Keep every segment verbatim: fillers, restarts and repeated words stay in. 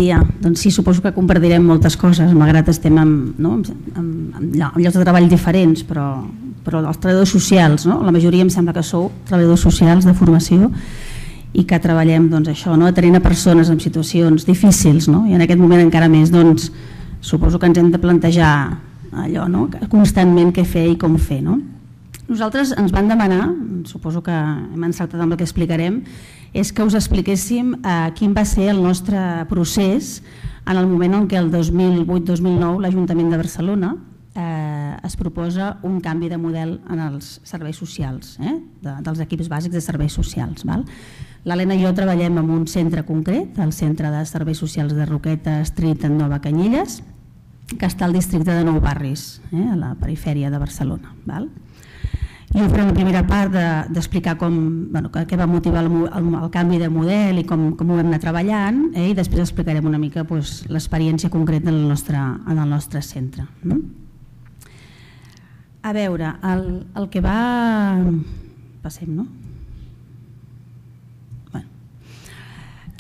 dia. Doncs sí, suposo que compartirem moltes coses, malgrat estem en, no, en, en llocs de treball diferents, però, però els treballadors socials, no? La majoria em sembla que sou treballadors socials de formació i que treballem doncs, això, no? Atenent a persones en situacions difícils, no? I en aquest moment encara més, doncs, suposo que ens hem de plantejar allò, no? Constantment què fer i com fer, no? Nosaltres ens van demanar, suposo que hem encertat amb el que explicarem, és que us expliquéssim eh, quin va ser el nostre procés en el moment en què el dos mil vuit dos mil nou l'Ajuntament de Barcelona eh, es proposa un canvi de model en els serveis socials, eh, de, dels equips bàsics de serveis socials. L'Helena i jo treballem en un centre concret, el Centre de Serveis Socials de Roqueta Street en Nova Canyelles, que està al districte de Nou Barris, eh, a la perifèria de Barcelona. Val? Jo faré la primera part d'explicar com, bueno, què va motivar el, el, el canvi de model i com, com ho vam anar treballant, eh, i després explicarem una mica pues, l'experiència concreta en el nostre, en el nostre centre. No? A veure, el, el que va... Passem, no? Bueno.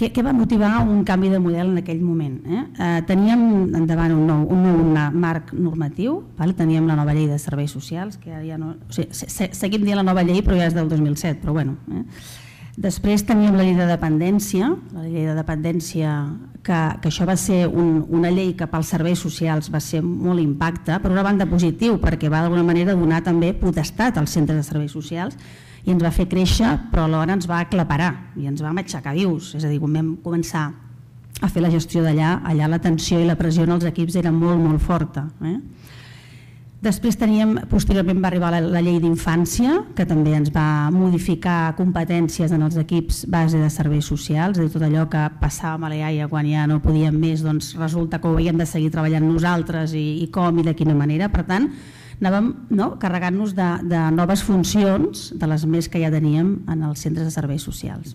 Què, què va motivar un canvi de model en aquell moment? Eh? Eh, teníem endavant un nou, un nou marc normatiu, val? Teníem la nova llei de serveis socials, que ja no, o sigui, se, seguim dient la nova llei però ja és del dos mil set, però bueno. Eh? Després teníem la llei de dependència, la llei de dependència que, que això va ser un, una llei que pels serveis socials va ser molt impacte, per una banda positiu perquè va d'alguna manera donar també potestat als centres de serveis socials i ens va fer créixer, però alhora ens va aclaparar i ens vam aixecar vius, és a dir, quan vam començar a fer la gestió d'allà, allà la tensió i la pressió en els equips era molt, molt forta. Eh? Després teníem, posteriorment va arribar la, la llei d'infància, que també ens va modificar competències en els equips base de serveis socials, és a dir, tot allò que passàvem a l'E A I A quan ja no podíem més, doncs resulta que ho havíem de seguir treballant nosaltres i, i com i de quina manera, per tant, anàvem no, carregant-nos de, de noves funcions, de les més que ja teníem en els centres de serveis socials.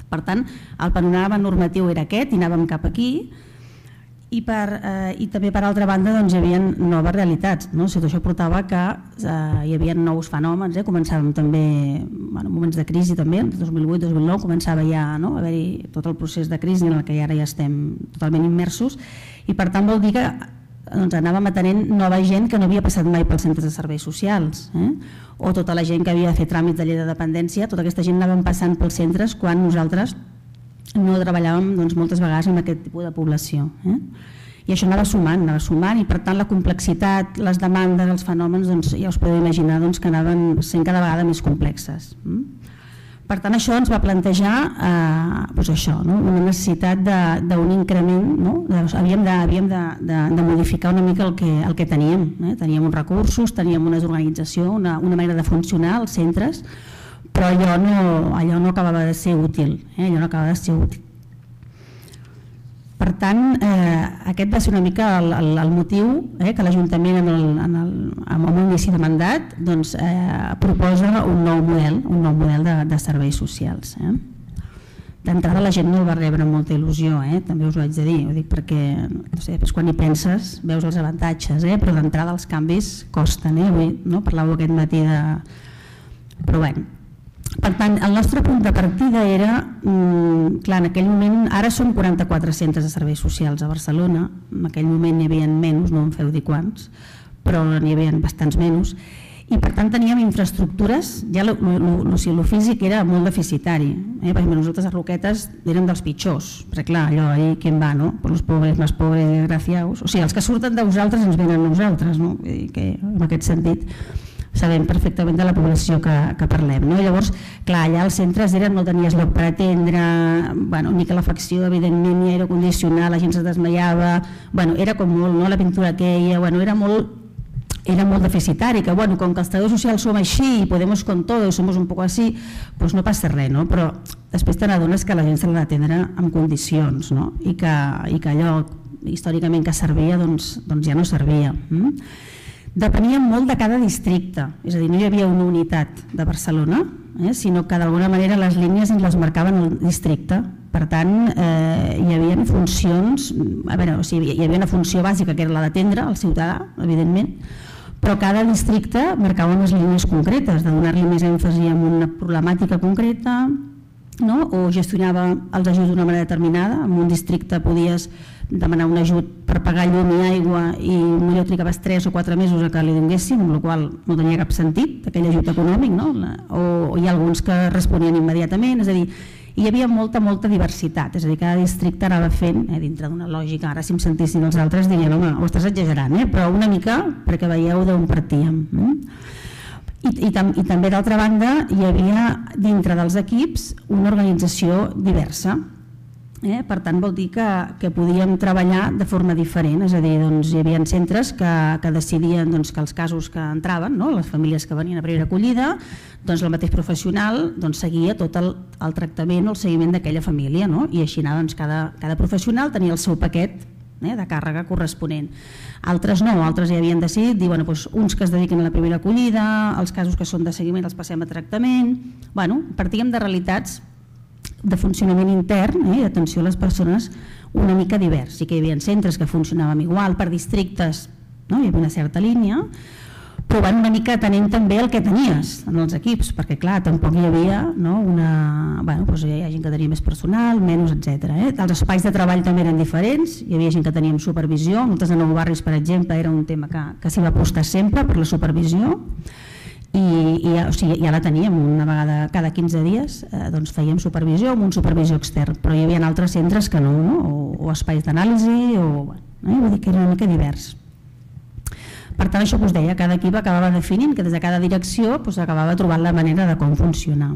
Per tant, el panorama normatiu era aquest i anàvem cap aquí i, per, eh, i també per altra banda doncs, hi havia noves realitats. No? O sigui, això portava que eh, hi havia nous fenòmens, eh? Començàvem també, bueno, moments de crisi també, el dos mil vuit dos mil nou començava ja no, a haver-hi tot el procés de crisi en el que ara ja estem totalment immersos i per tant vol dir que doncs anàvem atenent nova gent que no havia passat mai pels centres de serveis socials, eh? O tota la gent que havia de fer tràmits de llei de dependència, tota aquesta gent anàvem passant pels centres quan nosaltres no treballàvem doncs, moltes vegades amb aquest tipus de població. Eh? I això anava sumant, anava sumant i per tant la complexitat, les demandes, els fenòmens, doncs, ja us podeu imaginar doncs, que anaven sent cada vegada més complexes. Eh? Per tant, això ens va plantejar eh, doncs això, no? Una necessitat d'un increment, no? havíem, de, havíem de, de, de modificar una mica el que, el que teníem. Eh? Teníem uns recursos, teníem una organització, una, una manera de funcionar als centres, però allò no, allò no acabava de ser útil. Eh? Allò no acabava de ser útil. Per tant, eh, aquest va ser una mica el, el, el motiu eh, que l'Ajuntament en el, en el, amb un inici de mandat doncs, eh, proposa un nou model, un nou model de, de serveis socials. Eh. D'entrada la gent no el va rebre amb molta il·lusió, eh, també us ho haig de dir, ho dic perquè no sé, quan hi penses veus els avantatges, eh, però d'entrada els canvis costen. Eh, avui no, parlàveu aquest matí de... Però bé. Per tant, el nostre punt de partida era, mmm, clar, en aquell moment, ara són quaranta-quatre centres de serveis socials a Barcelona, en aquell moment n'hi havia menys, no em feu dir quants, però n'hi havia bastants menys, i per tant teníem infraestructures, ja el físic era molt deficitari, eh? Per exemple, nosaltres a Roquetes érem dels pitjors, perquè clar, allò, ahí qui va, no? Per los pobres, más pobres, desgraciados, o sigui, els que surten de vosaltres ens venen a nosaltres, no? I que en aquest sentit sabem perfectament de la població que, que parlem. No? Llavors, clar, allà als centres eren, no tenies lloc per atendre, bueno, ni calefacció, evidentment, ni aire condicionat, la gent se desmaiava, bueno, era com molt, no? La pintura aquella, bueno, era molt, era molt deficitari, que bueno, com que els treballadors socials som així i podemos con todo, somos un poco así, pues no passa res, no? Però després te n'adones que la gent se l'ha d'atendre en condicions, no? I que, i que allò històricament que servia, doncs, doncs ja no servia. Mm? Depenien molt de cada districte, és a dir, no hi havia una unitat de Barcelona, eh, sinó que d'alguna manera les línies ens les marcaven el districte. Per tant, eh, hi havia funcions, a veure, o sigui, hi havia una funció bàsica que era la d'atendre el ciutadà, evidentment, però cada districte marcava unes línies concretes, de donar-li més èmfasi en una problemàtica concreta, no? O gestionava els ajuts d'una manera determinada. En un districte podies demanar un ajut per pagar llum i aigua i potser trigaves tres o quatre mesos a que li donguessin, amb la qual cosa no tenia cap sentit aquell ajut econòmic, no? o, o hi ha alguns que responien immediatament, és a dir, hi havia molta, molta diversitat, és a dir, cada districte anava fent, eh, dintre d'una lògica, ara si em sentissin els altres dirien, home, ho estàs exagerant, eh? Però una mica perquè veieu d'on partíem. Eh? I, i, tam, i també d'altra banda hi havia dintre dels equips una organització diversa, eh? Per tant vol dir que, que podíem treballar de forma diferent, és a dir, doncs, hi havia centres que, que decidien doncs, que els casos que entraven, no? Les famílies que venien a primera acollida, doncs el mateix professional doncs, seguia tot el, el tractament o el seguiment d'aquella família, no? I així doncs, cada, cada professional tenia el seu paquet de càrrega corresponent. Altres no, altres ja havien decidit dir, bueno, doncs uns que es dediquen a la primera acollida, els casos que són de seguiment els passem a tractament. Bueno, partíem de realitats de funcionament intern eh, i d'atenció a les persones una mica divers. Sí que hi havia centres que funcionàvem igual per districtes, no? Hi havia una certa línia, però van una mica atenent també el que tenies en els equips, perquè clar, tampoc hi havia no, una... Bueno, doncs hi ha gent que tenia més personal, menys, etcètera. Eh? Els espais de treball també eren diferents, hi havia gent que teníem supervisió, nosaltres a Nou Barris, per exemple, era un tema que, que s'hi va apostar sempre per la supervisió, i, i o sigui, ja la teníem una vegada cada quinze dies, eh, doncs fèiem supervisió amb un supervisor extern, però hi havia altres centres que no, no? O, o espais d'anàlisi, o, eh? Vull dir que era una mica divers. Per tant, això que us deia, cada equip acabava definint que des de cada direcció doncs, acabava trobant la manera de com funcionar.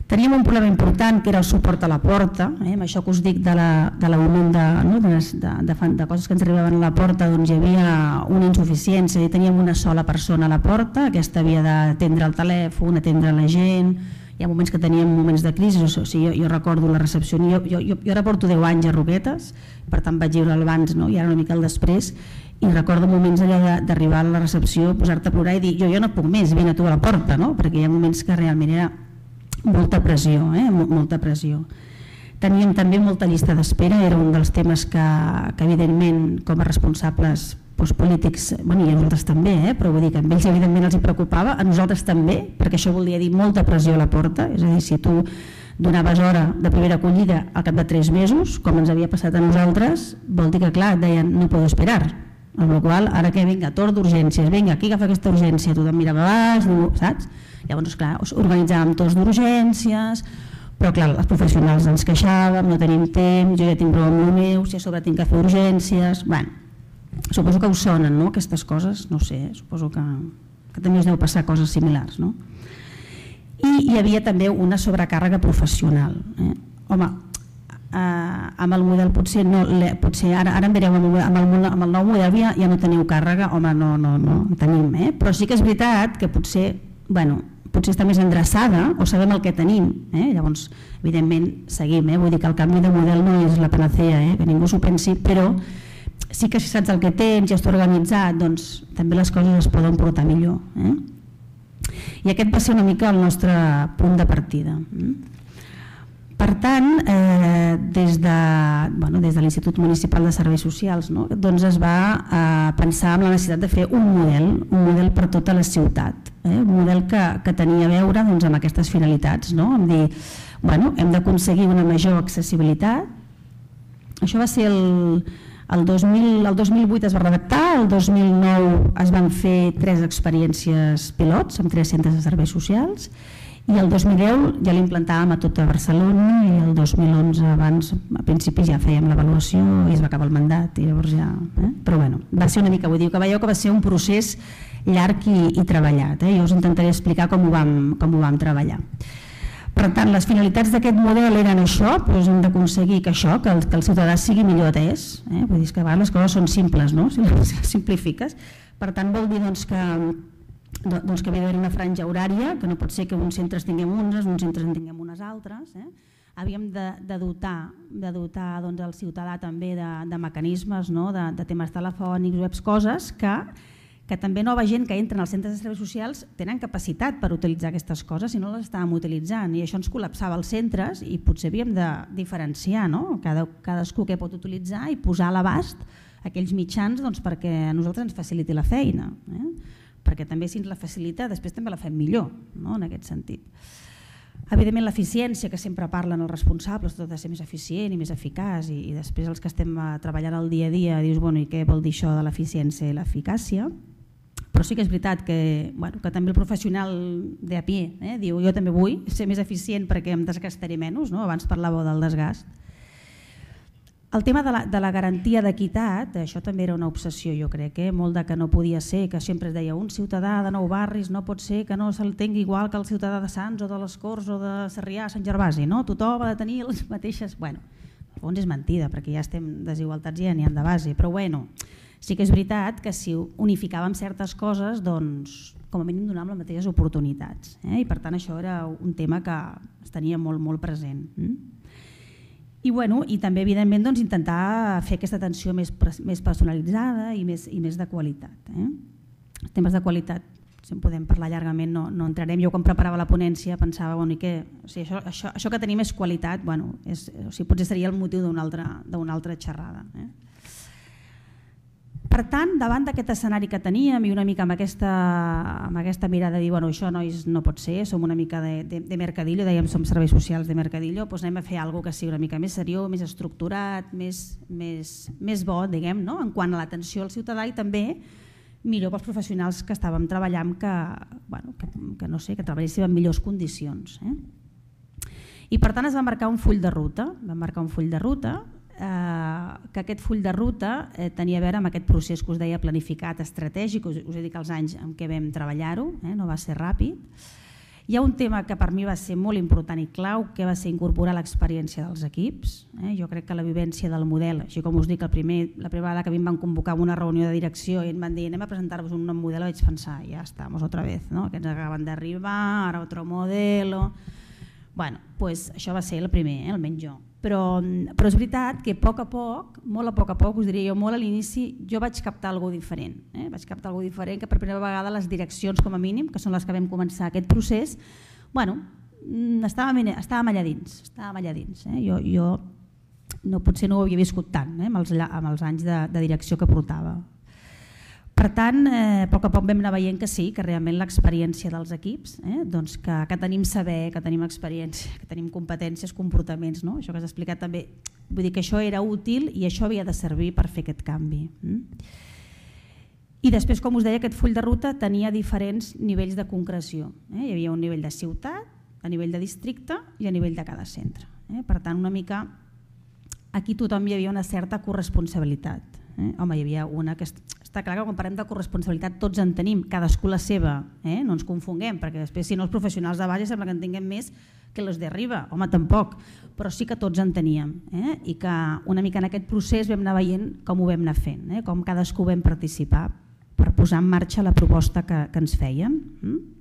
Teníem un problema important que era el suport a la porta, eh? Amb això que us dic de l'augment de, no? de, de, de, de coses que ens arribaven a la porta, doncs hi havia una insuficiència, teníem una sola persona a la porta, aquesta havia d'atendre el telèfon, atendre la gent, hi ha moments que teníem moments de crisi, o sigui, jo, jo recordo la recepció, jo, jo, jo, jo ara porto deu anys a Roquetes, per tant vaig viure abans no? I ara una mica el després, i recordo moments allà d'arribar a la recepció, posar-te a plorar i dir jo, jo no puc més, vine tu a la porta, no? Perquè hi ha moments que realment era molta pressió, eh? molta pressió. Teníem també molta llista d'espera, era un dels temes que, que evidentment com a responsables doncs, polítics, bueno, i a nosaltres també, eh? Però vull dir que a ells evidentment els hi preocupava, a nosaltres també, perquè això volia dir molta pressió a la porta, és a dir, si tu donaves hora de primera acollida al cap de tres mesos, com ens havia passat a nosaltres, vol dir que clar, et deien no puedo esperar, amb la qual ara que vinga, torn d'urgències, vinga, qui agafa aquesta urgència, tothom mirava baix, saps? Llavors, clar, organitzàvem torns d'urgències, però clar, els professionals ens queixàvem, no tenim temps, jo ja tinc prou amb el meu, si a sobre tinc que fer urgències, bueno, suposo que us sonen, no?, aquestes coses, no sé, suposo que, que també us deu passar coses similars, no? I hi havia també una sobrecàrrega professional, eh? Home, eh, amb el model potser, no, potser ara, ara em direu, amb el, amb el, amb el nou model ja, ja no teniu càrrega, home, no, no, no, tenim, eh? Però sí que és veritat que potser, bueno, potser està més endreçada o sabem el que tenim, eh? Llavors evidentment seguim, eh? Vull dir que el canvi de model no és la panacea, eh? Que ningú s'ho pensi, però sí que si saps el que tens i estàs organitzat, doncs també les coses es poden portar millor, eh? I aquest va ser una mica el nostre punt de partida. Per tant, eh, des de, bueno, des de l'Institut Municipal de Serveis Socials, no? Doncs es va eh, pensar en la necessitat de fer un model, un model per tota la ciutat, eh? Un model que, que tenia a veure doncs, amb aquestes finalitats, no? Amb dir, bueno, hem d'aconseguir una major accessibilitat. Això va ser el, el, dos mil, el dos mil vuit es va redactar, el dos mil nou es van fer tres experiències pilots amb tres centres de serveis socials, i el dos mil deu ja l'implantàvem a tota Barcelona i el dos mil onze abans, a principis ja fèiem l'avaluació i es va acabar el mandat i llavors ja, eh? Però bueno, va ser una mica, vull dir que veieu que va ser un procés llarg i, i treballat, eh? Jo us intentaré explicar com ho vam, com ho vam treballar. Per tant, les finalitats d'aquest model eren això, doncs hem d'aconseguir que això, que el, que el ciutadà sigui millor atès, eh? Vull dir que a vegades les coses són simples, no? Si les simplifiques. Per tant, vol dir doncs, que doncs que havia d'haver una franja horària, que no pot ser que uns centres tinguem unes, uns centres en tinguem unes altres. Eh? Havíem de, de dotar, de dotar doncs, el ciutadà també de, de mecanismes, no? de, de temes telefònics, webs, coses que, que també nova gent que entra als centres de serveis socials tenen capacitat per utilitzar aquestes coses i no les estàvem utilitzant. I això ens col·lapsava els centres i potser havíem de diferenciar, no? Cada, cadascú què pot utilitzar i posar a l'abast aquells mitjans doncs, perquè a nosaltres ens faciliti la feina. Eh? Perquè també si ens la facilita, després també la fem millor, no? En aquest sentit. Evidentment l'eficiència, que sempre parlen els responsables, tot ha de ser més eficient i més eficaç, i, i després els que estem treballant el dia a dia dius, bueno, i què vol dir això de l'eficiència i l'eficàcia? Però sí que és veritat que, bueno, que també el professional de a pie eh, diu, jo també vull ser més eficient perquè em desgastaré menys, no? Abans parlàveu del desgast. El tema de la, de la garantia d'equitat, això també era una obsessió, jo crec, eh? Molt de que no podia ser, que sempre es deia un ciutadà de Nou Barris no pot ser que no se'l tingui igual que el ciutadà de Sants o de les Corts o de Sarrià, Sant Gervasi, no? Tothom ha de tenir les mateixes... Bueno, al fons és mentida, perquè ja estem desigualtats ja n'hi ha de base, però bueno, sí que és veritat que si unificàvem certes coses, doncs com a mínim donàvem les mateixes oportunitats, eh? I per tant això era un tema que es tenia molt, molt present. Mm? I, bueno, i també evidentment doncs, intentar fer aquesta atenció més, més personalitzada i més, i més de qualitat. Eh? Els temes de qualitat, si en podem parlar llargament, no, no entrarem. Jo quan preparava la ponència pensava bueno, que, o sigui, això, això, això que tenim és qualitat, bueno, és, o sigui, potser seria el motiu d'una altra, d'una altra xerrada. Eh? Per tant, davant d'aquest escenari que teníem i una mica amb aquesta, amb aquesta mirada de dir bueno, això nois no pot ser, som una mica de, de, de mercadillo, dèiem som serveis socials de mercadillo, doncs anem a fer alguna cosa que sigui una mica més seriós, més estructurat, més, més, més bo, diguem, no? En quant a l'atenció al ciutadà i també millor pels professionals que estàvem treballant que, bueno, que, que, no sé, que treballéssim en millors condicions. Eh? I per tant es va marcar un full de ruta, vam marcar un full de ruta Eh, que aquest full de ruta eh, tenia a veure amb aquest procés que us deia planificat, estratègic, us, us he dit que els anys en què vam treballar-ho, eh, no va ser ràpid. Hi ha un tema que per mi va ser molt important i clau, que va ser incorporar l'experiència dels equips. Eh. Jo crec que la vivència del model, així com us dic, el primer, la primera vegada que a mi em van convocar una reunió de direcció i em van dir anem a presentar-vos un nou model, vaig pensar, ja estamos otra vez, no? Aquests acaben d'arribar, ara otro modelo... Bueno, pues això va ser el primer, eh, almenys jo. Però, però és veritat que a poc a poc, molt a poc a poc, us diria jo, molt a l'inici, jo vaig captar alguna cosa diferent. Eh? Vaig captar alguna cosa diferent que per primera vegada les direccions, com a mínim, que són les que vam començar aquest procés, bueno, estàvem, estàvem allà dins. Estàvem allà dins eh? Jo, jo no, potser no ho havia viscut tant eh? amb, els, amb els anys de, de direcció que portava. Per tant, eh, a poc a poc vam anar veient que sí, que realment l'experiència dels equips, eh, doncs que, que tenim saber, que tenim experiència, que tenim competències, comportaments, no? Això que has explicat també, vull dir que això era útil i això havia de servir per fer aquest canvi. Mm? I després, com us deia, aquest full de ruta tenia diferents nivells de concreció. Eh? Hi havia un nivell de ciutat, a nivell de districte i a nivell de cada centre. Eh? Per tant, una mica, aquí tothom hi havia una certa corresponsabilitat. Eh? Home, hi havia una que està clar que quan parlem de corresponsabilitat tots en tenim, cadascú la seva, eh? No ens confonguem, perquè després si no els professionals de base sembla que en tinguem més que els d'arriba, home tampoc, però sí que tots en teníem eh? I que una mica en aquest procés vam anar veient com ho vam anar fent, eh? Com cadascú vam participar per posar en marxa la proposta que, que ens feien. Mm?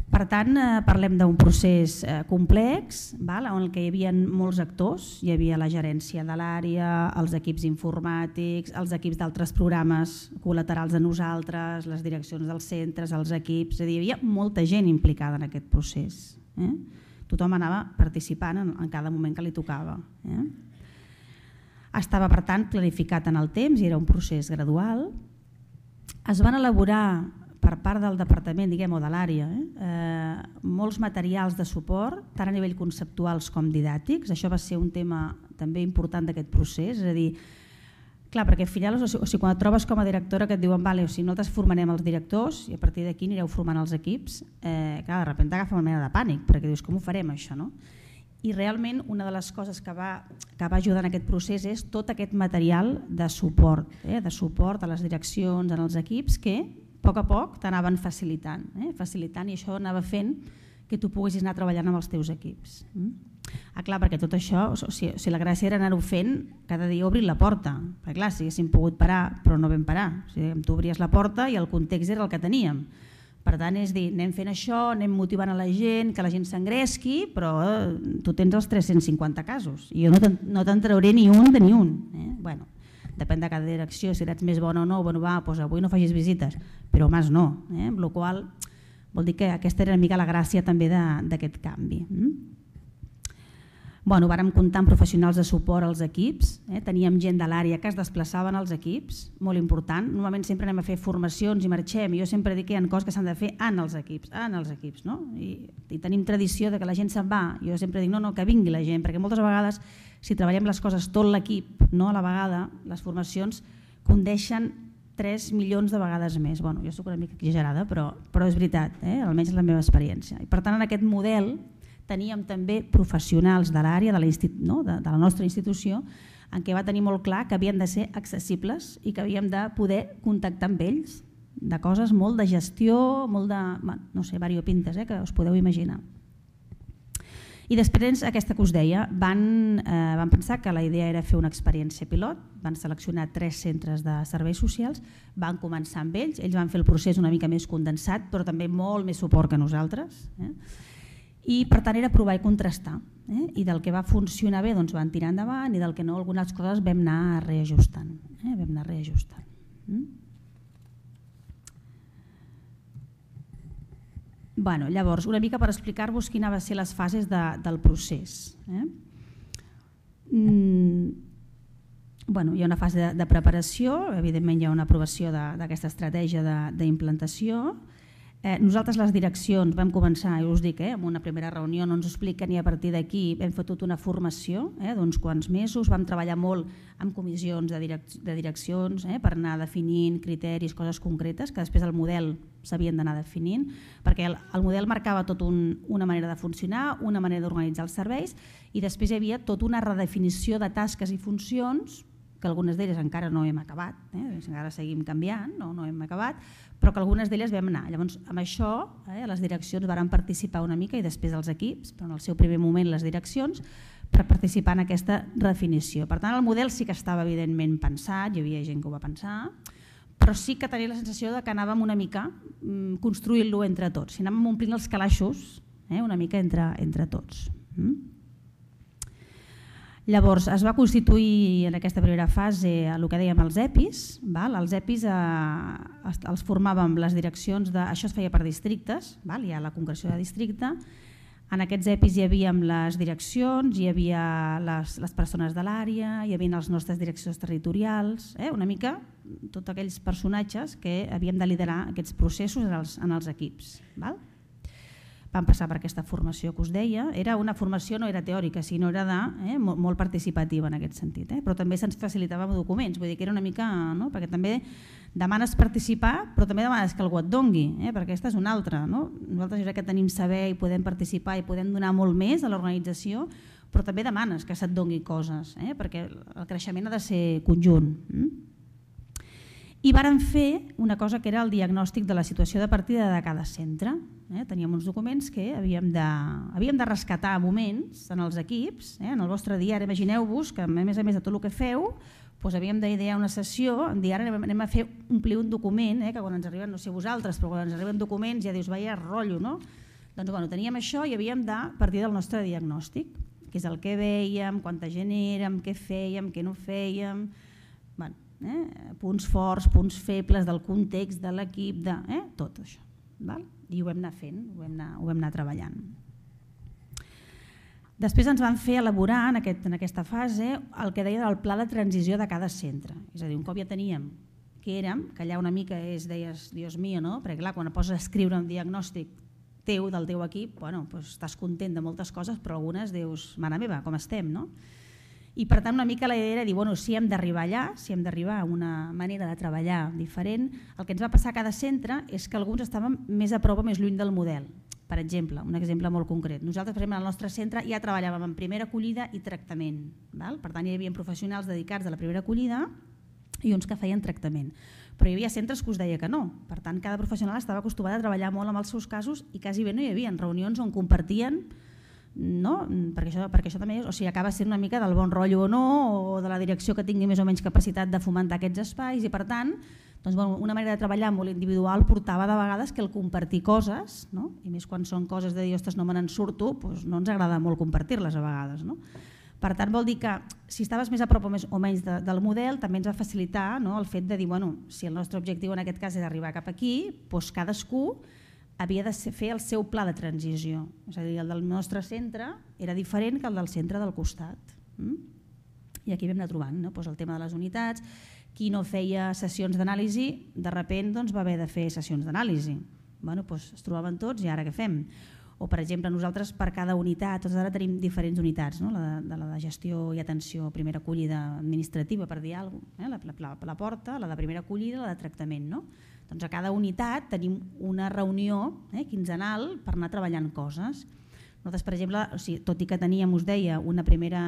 Per tant, eh, parlem d'un procés eh, complex, val? En el que hi havia molts actors, hi havia la gerència de l'àrea, els equips informàtics, els equips d'altres programes col·laterals de nosaltres, les direccions dels centres, els equips, és a dir, hi havia molta gent implicada en aquest procés. Eh? Tothom anava participant en, en cada moment que li tocava. Eh? Estava, per tant, planificat en el temps i era un procés gradual. Es van elaborar per part del departament, diguem, o de l'àrea, eh? Eh, molts materials de suport, tant a nivell conceptuals com didàctics. Això va ser un tema també important d'aquest procés, és a dir, clar, perquè al final, o sigui, quan et trobes com a directora que et diuen vale, o sigui, nosaltres formarem els directors i a partir d'aquí anireu formant els equips, eh, clar, de sobte agafa una mena de pànic, perquè dius, com ho farem això, no? I realment una de les coses que va, que va ajudar en aquest procés és tot aquest material de suport, eh? De suport a les direccions, en els equips, que a poc a poc t'anaven facilitant, eh? facilitant i això anava fent que tu poguessis anar treballant amb els teus equips. Mm? Ah, clar, perquè tot això, o sigui, o sigui, la gràcia era anar-ho fent cada dia obrint la porta, perquè clar, si haguéssim pogut parar, però no vam parar, o sigui, tu obries la porta i el context era el que teníem. Per tant, és dir, anem fent això, anem motivant a la gent, que la gent s'engresqui, però eh, tu tens els tres-cents cinquanta casos i jo no te'n no te'n trauré ni un de ni un. Eh? Bueno, depèn de cada direcció, si ets més bona o no, bueno, va, doncs avui no facis visites, però més no, eh? Amb la qual vol dir que aquesta era una mica la gràcia també d'aquest canvi. Bueno, vàrem comptar amb professionals de suport als equips, eh? Teníem gent de l'àrea que es desplaçaven als equips, molt important. Normalment sempre anem a fer formacions i marxem, i jo sempre dic que hi ha coses que s'han de fer en els equips, en els equips, no? I, i tenim tradició de que la gent se'n va, jo sempre dic no, no, que vingui la gent, perquè moltes vegades si treballem les coses tot l'equip, no a la vegada, les formacions condeixen tres milions de vegades més. Bueno, jo soc una mica exagerada, però, però és veritat, eh? Almenys és la meva experiència. I per tant, en aquest model teníem també professionals de l'àrea, de, la no? de, de la nostra institució, en què va tenir molt clar que havien de ser accessibles i que havíem de poder contactar amb ells de coses molt de gestió, molt de, no sé, variopintes, eh? Que us podeu imaginar. I després, aquesta que us deia, van, eh, van pensar que la idea era fer una experiència pilot, van seleccionar tres centres de serveis socials, van començar amb ells, ells van fer el procés una mica més condensat, però també molt més suport que nosaltres, eh? I per tant era provar i contrastar, eh? I del que va funcionar bé doncs van tirar endavant i del que no algunes coses vam anar reajustant, eh? vam anar reajustant. Mm? Bueno, llavors, una mica per explicar-vos quines van ser les fases de, del procés. Eh? Mm, bueno, hi ha una fase de, de preparació, evidentment hi ha una aprovació d'aquesta estratègia d'implantació. Eh, nosaltres les direccions vam començar, i us dic, eh, amb una primera reunió no ens ho expliquen i a partir d'aquí hem fet tota una formació eh, d'uns quants mesos, vam treballar molt amb comissions de, direc de direccions eh, per anar definint criteris, coses concretes que després el model s'havien d'anar definint, perquè el, el model marcava tot un, una manera de funcionar, una manera d'organitzar els serveis i després hi havia tota una redefinició de tasques i funcions que algunes d'elles encara no hem acabat, eh? encara seguim canviant, no, no hem acabat, però que algunes d'elles vam anar. Llavors, amb això, eh, les direccions varen participar una mica i després els equips, però en el seu primer moment les direccions, per participar en aquesta redefinició. Per tant, el model sí que estava evidentment pensat, hi havia gent que ho va pensar, però sí que tenia la sensació de que anàvem una mica mm, construint-lo entre tots, si anàvem omplint els calaixos eh, una mica entre, entre tots. Mm? Llavors, es va constituir en aquesta primera fase el que dèiem els EPIs. Val? Els EPIs eh, els formàvem les direccions, de, això es feia per districtes, val? Hi ha la concreció de districte. En aquests EPIs hi havia les direccions, hi havia les, les persones de l'àrea, hi havia les nostres direccions territorials, eh? una mica tots aquells personatges que havíem de liderar aquests processos en els, en els equips. Val? Vam passar per aquesta formació que us deia. Era una formació, no era teòrica, sinó era de, eh, molt, molt participativa en aquest sentit. Eh? Però també se'ns facilitava amb documents, vull dir que era una mica, no? Perquè també demanes participar, però també demanes que algú et dongui, eh? perquè aquesta és una altra. No? Nosaltres jo crec que tenim saber i podem participar i podem donar molt més a l'organització, però també demanes que se't dongui coses, eh? perquè el creixement ha de ser conjunt. Mm? I vàrem fer una cosa que era el diagnòstic de la situació de partida de cada centre. Eh? Teníem uns documents que havíem de, havíem de rescatar moments en els equips, eh? en el vostre diari. Imagineu-vos que a més a més de tot el que feu, doncs havíem d'idear una sessió, en dir ara anem a fer omplir un document, eh? que quan ens arriben, no sé vosaltres, però quan ens arriben documents ja dius, vaya rotllo, no? Doncs bueno, teníem això i havíem de partir del nostre diagnòstic, que és el que veiem, quanta gent érem, què fèiem, què no fèiem, bueno, Eh? punts forts, punts febles del context de l'equip, de, eh? tot això. Val? I ho vam anar fent, ho vam anar, ho vam anar treballant. Després ens van fer elaborar en, aquest, en aquesta fase el que deia del pla de transició de cada centre. És a dir, un cop ja teníem que érem, que allà una mica és, deies, Dios mío, no? Perquè clar, quan et poses a escriure un diagnòstic teu, del teu equip, bueno, doncs estàs content de moltes coses, però algunes dius, mare meva, com estem, no? I per tant una mica la idea era dir, bueno, si hem d'arribar allà, si hem d'arribar a una manera de treballar diferent, el que ens va passar a cada centre és que alguns estaven més a prop o més lluny del model. Per exemple, un exemple molt concret. Nosaltres, per exemple, al nostre centre ja treballàvem en primera acollida i tractament. Val? Per tant, hi havia professionals dedicats a la primera acollida i uns que feien tractament. Però hi havia centres que us deia que no. Per tant, cada professional estava acostumat a treballar molt amb els seus casos i quasi bé no hi havia reunions on compartien, no? perquè, això, perquè això també és, o sigui, acaba sent una mica del bon rotllo o no, o de la direcció que tingui més o menys capacitat de fomentar aquests espais i per tant doncs, bueno, una manera de treballar molt individual portava de vegades que el compartir coses, no? I més quan són coses de dir, ostres, no me n'en surto, doncs no ens agrada molt compartir-les a vegades. No? Per tant, vol dir que si estaves més a prop o, més, o menys de, del model també ens va facilitar, no? el fet de dir, bueno, si el nostre objectiu en aquest cas és arribar cap aquí, doncs cadascú havia de fer el seu pla de transició. És a dir, el del nostre centre era diferent que el del centre del costat. I aquí vam anar trobant el tema de les unitats. Qui no feia sessions d'anàlisi, de sobte va haver de fer sessions d'anàlisi. Es trobaven tots i ara què fem? O, per exemple, nosaltres per cada unitat, tots ara tenim diferents unitats, la de gestió i atenció, primera acollida administrativa, per dir alguna cosa, la porta, la de primera acollida i la de tractament. Doncs a cada unitat tenim una reunió quinzenal per anar treballant coses. Nosaltres, per exemple, tot i que teníem, us deia, una primera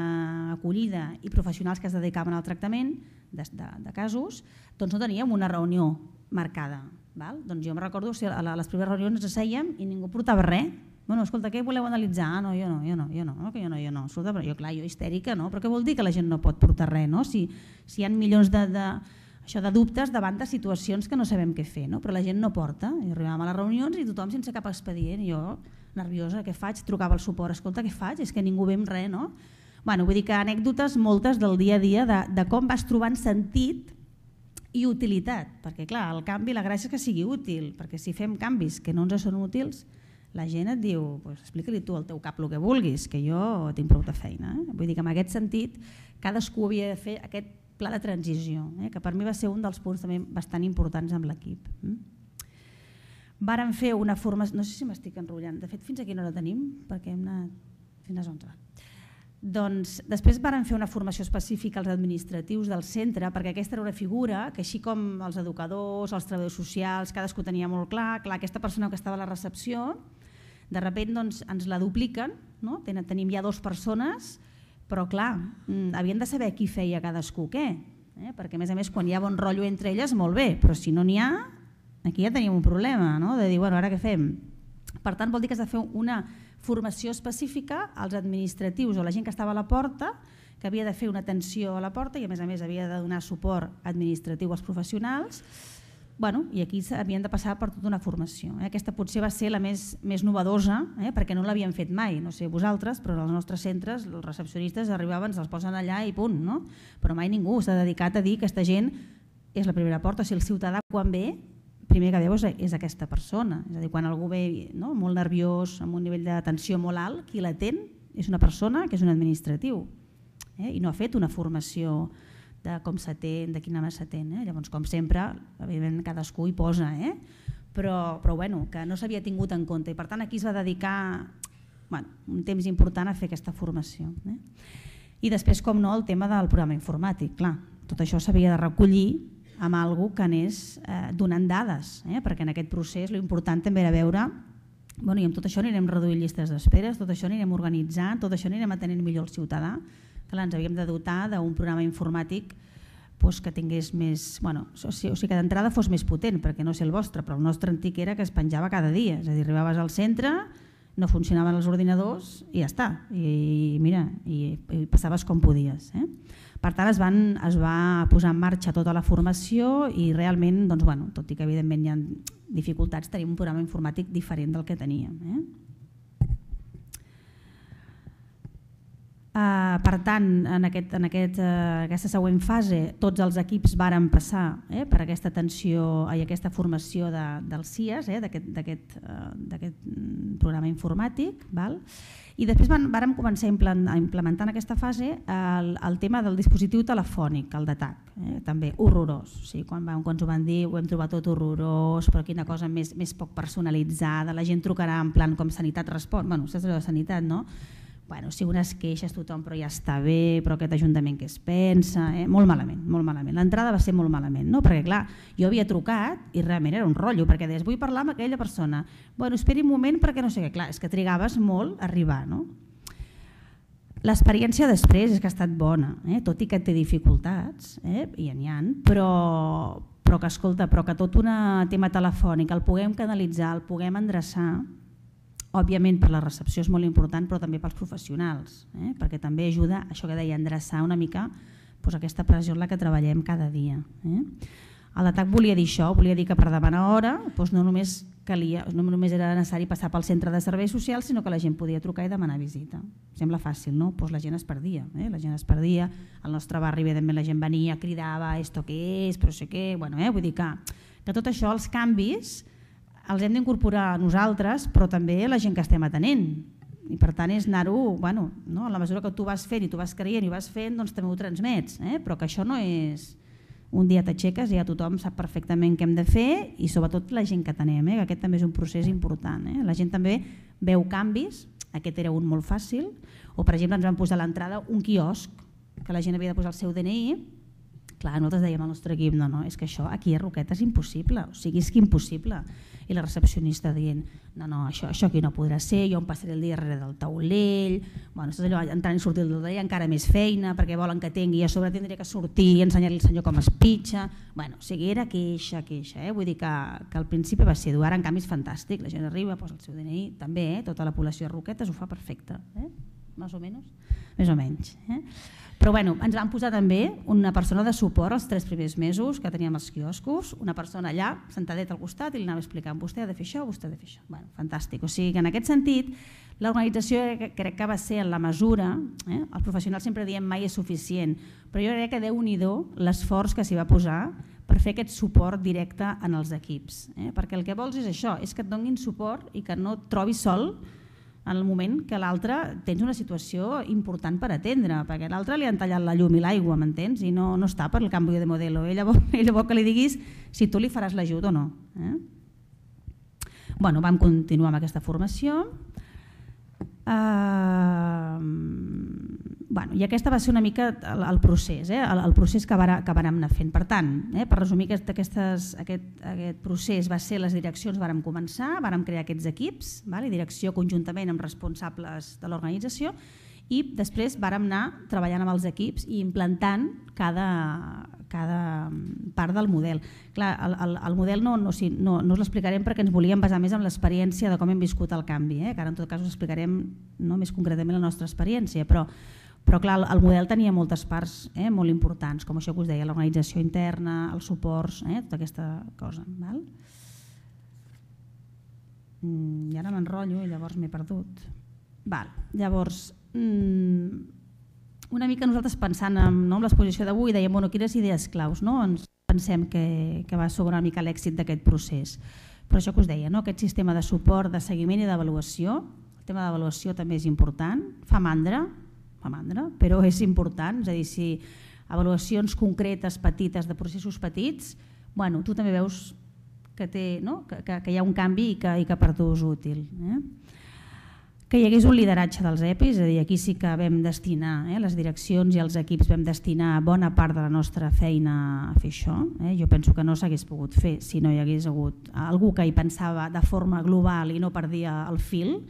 acollida i professionals que es dedicaven al tractament de casos, doncs no teníem una reunió marcada. Doncs jo em recordo que a les primeres reunions ens assèiem i ningú portava res. Bueno, escolta, què voleu analitzar? Ah, no, jo no, jo no, jo no, que jo no, jo no. Escolta, però jo, clar, jo histèrica, no? Però què vol dir que la gent no pot portar res, no? Si hi ha milions de dubtes davant de situacions que no sabem què fer, però la gent no porta. I arribàvem a les reunions i tothom sense cap expedient. Jo, nerviosa, què faig? Trucava al suport, escolta, què faig? És que ningú ve amb res, no? Bueno, vull dir que anècdotes moltes del dia a dia de com vas trobant sentit i utilitat, perquè clar, el canvi, la gràcia és que sigui útil, perquè si fem canvis que no ens són útils, la gent et diu, explica-li tu al teu cap el que vulguis, que jo tinc prou de feina. Vull dir que en aquest sentit cadascú havia de fer aquest pla de transició, que per mi va ser un dels punts també bastant importants amb l'equip. Vàrem fer una formació, no sé si m'estic enrotllant, de fet fins a quina hora tenim, perquè hem anat fins a les onze. Doncs després vàrem fer una formació específica als administratius del centre, perquè aquesta era una figura que així com els educadors, els treballadors socials, cadascú tenia molt clar, clar, aquesta persona que estava a la recepció, de sobte ens la dupliquen, tenim ja dues persones, però clar, havien de saber qui feia cadascú què, perquè a més a més quan hi ha bon rotllo entre elles molt bé, però si no n'hi ha, aquí ja tenim un problema, de dir, bueno, ara què fem? Per tant, vol dir que has de fer una formació específica als administratius o la gent que estava a la porta, que havia de fer una atenció a la porta i a més a més havia de donar suport administratiu als professionals, i aquí havien de passar per tota una formació. Aquesta potser va ser la més novedosa, perquè no l'havien fet mai, no sé vosaltres, però als nostres centres els recepcionistes arribaven, se'ls posen allà i punt, però mai ningú s'ha dedicat a dir que aquesta gent és la primera porta, o sigui, el ciutadà quan ve primer que veu és aquesta persona, és a dir, quan algú ve molt nerviós, amb un nivell d'atenció molt alt, qui l'atén és una persona que és un administratiu i no ha fet una formació de com s'atén, de quina mà s'atén. Llavors, com sempre, evidentment cadascú hi posa, però que no s'havia tingut en compte i per tant aquí es va dedicar un temps important a fer aquesta formació. I després, com no, el tema del programa informàtic. Clar, tot això s'havia de recollir amb alguna cosa que anés donant dades, perquè en aquest procés l'important també era veure, i amb tot això anirem reduint llistes d'espera, tot això anirem organitzant, tot això anirem atenent millor el ciutadà. Clar, ens havíem de dotar d'un programa informàtic que tingués més, o sigui que d'entrada fos més potent, perquè no sé el vostre, però el nostre antic era que es penjava cada dia, és a dir, arribaves al centre, no funcionaven els ordinadors i ja està, i mira, i passaves com podies. Per tant, es va posar en marxa tota la formació i realment, tot i que evidentment hi ha dificultats, tenim un programa informàtic diferent del que teníem. Per tant, en aquesta següent fase tots els equips varen passar per aquesta atenció i aquesta formació dels C I A S, d'aquest programa informàtic, i després vàrem començar a implementar en aquesta fase el tema del dispositiu telefònic, el D A T A C, també horrorós. Quan ens ho van dir ho hem trobat tot horrorós, però quina cosa més poc personalitzada, la gent trucarà en plan com Sanitat Respon, bueno, saps allò de Sanitat, no? Bueno, si unes queixes tothom però ja està bé, però aquest ajuntament què es pensa, molt malament, molt malament. L'entrada va ser molt malament, perquè clar, jo havia trucat i realment era un rotllo, perquè deies, vull parlar amb aquella persona, bueno, esperi un moment perquè no sé què, clar, és que trigaves molt a arribar, no? L'experiència després és que ha estat bona, tot i que té dificultats, i n'hi ha, però que escolta, però que tot un tema telefònic el puguem canalitzar, el puguem endreçar, òbviament per la recepció és molt important, però també pels professionals, perquè també ajuda, això que deia, a endreçar una mica aquesta pressió en la que treballem cada dia. El D A T A C volia dir això, volia dir que per demanar hora no només era necessari passar pel centre de serveis socials, sinó que la gent podia trucar i demanar visita. Sembla fàcil, no? Doncs la gent es perdia, la gent es perdia, al nostre barri evidentment la gent venia, cridava, esto què és, però sé què, vull dir que tot això, els canvis, els hem d'incorporar nosaltres, però també la gent que estem atenent. I per tant és anar-ho, bueno, no? A la mesura que tu vas fent i tu vas creient i vas fent, doncs també ho transmets, eh? Però que això no és un dia t'aixeques i ja tothom sap perfectament què hem de fer i sobretot la gent que tenem, eh? Que aquest també és un procés important. Eh? La gent també veu canvis, aquest era un molt fàcil, o per exemple ens van posar a l'entrada un quiosc que la gent havia de posar el seu D N I. Clar, nosaltres dèiem al nostre equip, no, no, és que això aquí a Roquetes és impossible, o sigui, és que impossible. I la recepcionista dient, no, no, això, això aquí no podrà ser, jo em passaré el dia darrere del taulell, bueno, és allò, entrant i sortir del taulell encara més feina, perquè volen que tingui, i a sobre tindré que sortir i ensenyar-li al senyor com es pitja, bueno, o sigui, era queixa, queixa, eh? Vull dir que, que al principi va ser dur, ara en canvi és fantàstic, la gent arriba, posa el seu D N I, també, eh? Tota la població de Roquetes ho fa perfecte, eh? Més o menys, més o menys, eh? Però bueno, ens van posar també una persona de suport els tres primers mesos que teníem els quioscos, una persona allà sentadet al costat i li anava explicant vostè ha de fer això, vostè ha de fer això. Bueno, fantàstic. O sigui que en aquest sentit l'organització crec que va ser en la mesura, eh? Els professionals sempre diem mai és suficient, però jo crec que Déu-n'hi-do l'esforç que s'hi va posar per fer aquest suport directe en els equips. Eh? Perquè el que vols és això, és que et donin suport i que no et trobis sol en el moment que l'altre tens una situació important per atendre, perquè l'altre li han tallat la llum i l'aigua, m'entens? I no, no està per el canvi de modelo. Ella vol, ella vol que li diguis si tu li faràs l'ajut o no. Eh? Bueno, vam continuar amb aquesta formació. Uh, bueno, i aquesta va ser una mica el, el procés, eh? el, el procés que, vara, que vàrem anar fent. Per tant, eh, per resumir, aquest, aquestes, aquest, aquest procés va ser les direccions, vàrem començar, vàrem crear aquests equips, vale? Direcció conjuntament amb responsables de l'organització, i després vàrem anar treballant amb els equips i implantant cada, cada part del model. Clar, el, el, el model no, no, no, no us l'explicarem perquè ens volíem basar més en l'experiència de com hem viscut el canvi, eh? Que ara en tot cas us explicarem no, més concretament la nostra experiència, però, però clar, el, el model tenia moltes parts eh, molt importants, com això que us deia, l'organització interna, els suports, eh, tota aquesta cosa. Val? Mm, I ara m'enrotllo i llavors m'he perdut. Val, llavors, una mica nosaltres pensant en, no, en l'exposició d'avui dèiem, bueno, quines idees claus no? Ens pensem que, que va sobre una mica l'èxit d'aquest procés, però això que us deia, no? Aquest sistema de suport, de seguiment i d'avaluació, el tema d'avaluació també és important, fa mandra, fa mandra, però és important, és a dir, si avaluacions concretes, petites, de processos petits, bueno, tu també veus que, té, no? que, que, que hi ha un canvi i que, i que per tu és útil. Eh? Que hi hagués un lideratge dels E P Is, és a dir, aquí sí que vam destinar, eh, les direccions i els equips vam destinar bona part de la nostra feina a fer això. Eh. Jo penso que no s'hagués pogut fer si no hi hagués hagut algú que hi pensava de forma global i no perdia el fil,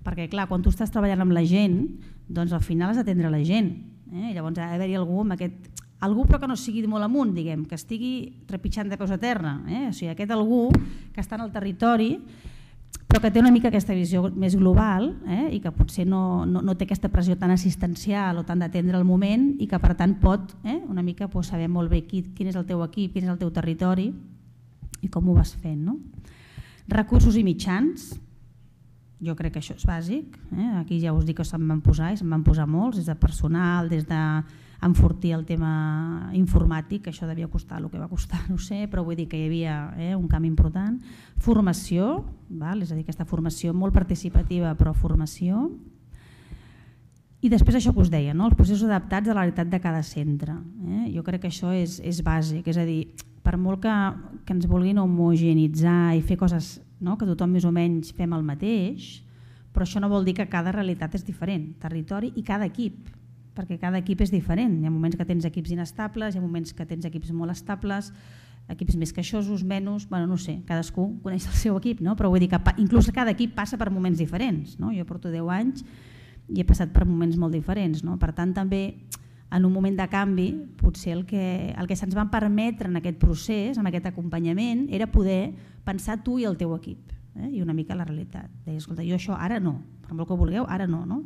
perquè clar, quan tu estàs treballant amb la gent, doncs al final has d'atendre la gent. Eh. Llavors ha d'haver-hi algú amb aquest... Algú però que no sigui molt amunt, diguem, que estigui trepitjant de peus a terra. Eh. O sigui, aquest algú que està en el territori però que té una mica aquesta visió més global eh, i que potser no, no, no té aquesta pressió tan assistencial o tan d'atendre el moment i que per tant pot eh, una mica pues, saber molt bé qui, quin és el teu equip, quin és el teu territori i com ho vas fent. No? Recursos i mitjans, jo crec que això és bàsic, eh? Aquí ja us dic que se'n van posar i se'n van posar molts, des de personal, des d'enfortir el tema informàtic, que això devia costar el que va costar, no sé, però vull dir que hi havia eh, un canvi important. Formació, val? És a dir, aquesta formació molt participativa, però formació. I després això que us deia, no? Els processos adaptats a la realitat de cada centre. Eh? Jo crec que això és, és bàsic, és a dir, per molt que, que ens vulguin homogeneïtzar i fer coses no? Que tothom més o menys fem el mateix, però això no vol dir que cada realitat és diferent, territori i cada equip, perquè cada equip és diferent. Hi ha moments que tens equips inestables, hi ha moments que tens equips molt estables, equips més queixosos, menys, bueno, no sé, cadascú coneix el seu equip, no? Però vull dir que inclús cada equip passa per moments diferents. No? Jo porto deu anys i he passat per moments molt diferents. No? Per tant, també en un moment de canvi, potser el que, el que se'ns va permetre en aquest procés, en aquest acompanyament, era poder pensar tu i el teu equip, eh? I una mica la realitat. Deia, escolta, jo això ara no, per molt que vulgueu, ara no, no?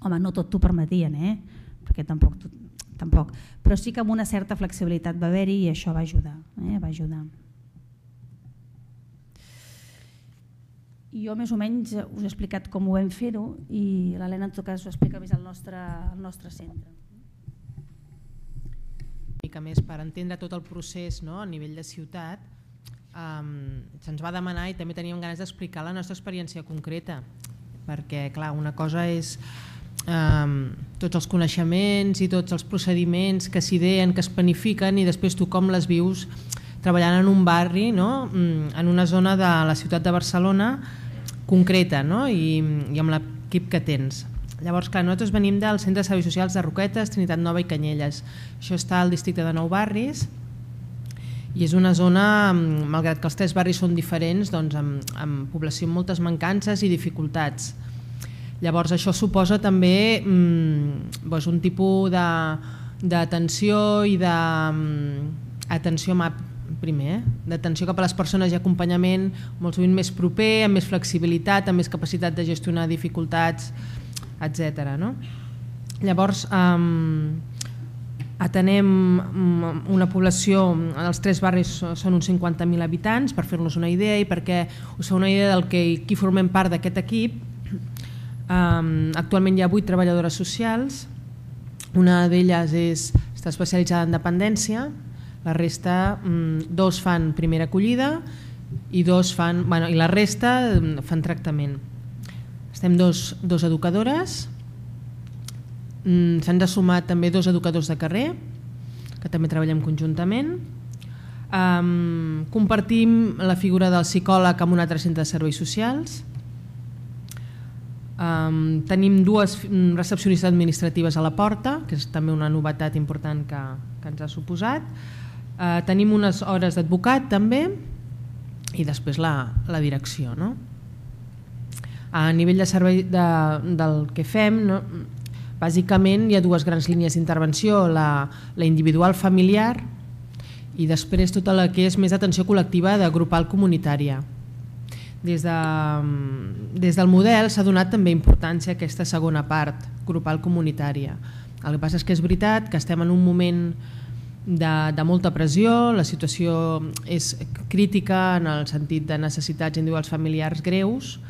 Home, no tot t'ho permetien, eh? Perquè tampoc, tampoc. Però sí que amb una certa flexibilitat va haver-hi i això va ajudar, eh? Va ajudar. I jo més o menys us he explicat com ho vam fer-ho i l'Helena en tot cas ho explica més al nostre, al nostre centre. Una mica més per entendre tot el procés no? A nivell de ciutat, um, se'ns va demanar i també teníem ganes d'explicar la nostra experiència concreta, perquè clar, una cosa és um, tots els coneixements i tots els procediments que s'ideen, que es planifiquen, i després tu com les vius treballant en un barri, no? En una zona de la ciutat de Barcelona concreta, no? I, i amb l'equip que tens. Llavors, clar, nosaltres venim del Centre de Serveis Socials de Roquetes, Trinitat Nova i Canyelles. Això està al districte de Nou Barris i és una zona, malgrat que els tres barris són diferents, doncs amb, amb població amb moltes mancances i dificultats. Llavors això suposa també mm, doncs un tipus d'atenció i d'atenció primer, eh? d'atenció cap a les persones i acompanyament molt sovint més proper, amb més flexibilitat, amb més capacitat de gestionar dificultats, etcètera. No? Llavors, um, atenem una població, els tres barris són uns cinquanta mil habitants, per fer-nos una idea i perquè us feu una idea del que qui formem part d'aquest equip. Um, actualment hi ha vuit treballadores socials, una d'elles està especialitzada en dependència, la resta, um, dos fan primera acollida i, dos fan, bueno, i la resta fan tractament. Estem dos, dos educadores, s'han de sumar també dos educadors de carrer, que també treballem conjuntament. Um, compartim la figura del psicòleg amb un altre centre de serveis socials. Um, tenim dues recepcionistes administratives a la porta, que és també una novetat important que, que ens ha suposat. Uh, tenim unes hores d'advocat també i després la, la direcció. No? A nivell de servei de, del que fem, no? Bàsicament hi ha dues grans línies d'intervenció, la, la individual familiar i després tota la que és més atenció col·lectiva de grupal comunitària. Des, de, des del model s'ha donat també importància a aquesta segona part, grupal comunitària. El que passa és que és veritat que estem en un moment de, de molta pressió, la situació és crítica en el sentit de necessitats individuals familiars greus,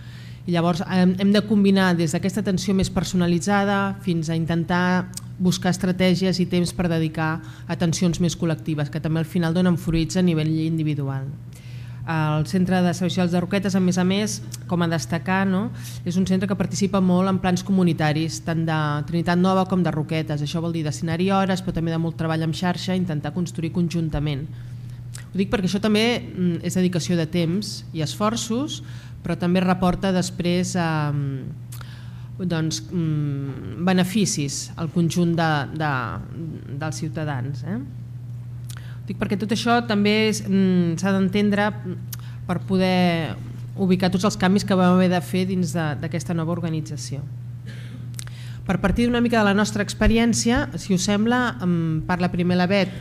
i llavors hem de combinar des d'aquesta atenció més personalitzada fins a intentar buscar estratègies i temps per dedicar atencions més col·lectives, que també al final donen fruits a nivell individual. El Centre de Serveis Socials de Roquetes, a més a més, com a destacar, no? És un centre que participa molt en plans comunitaris, tant de Trinitat Nova com de Roquetes. Això vol dir destinar-hi hores, però també de molt treball en xarxa, intentar construir conjuntament. Ho dic perquè això també és dedicació de temps i esforços, però també reporta després eh, doncs, beneficis al conjunt de, de, dels ciutadans. Eh? Dic perquè tot això també s'ha d'entendre per poder ubicar tots els canvis que vam haver de fer dins d'aquesta nova organització. Per partir d'una mica de la nostra experiència, si us sembla, parla primer la Bet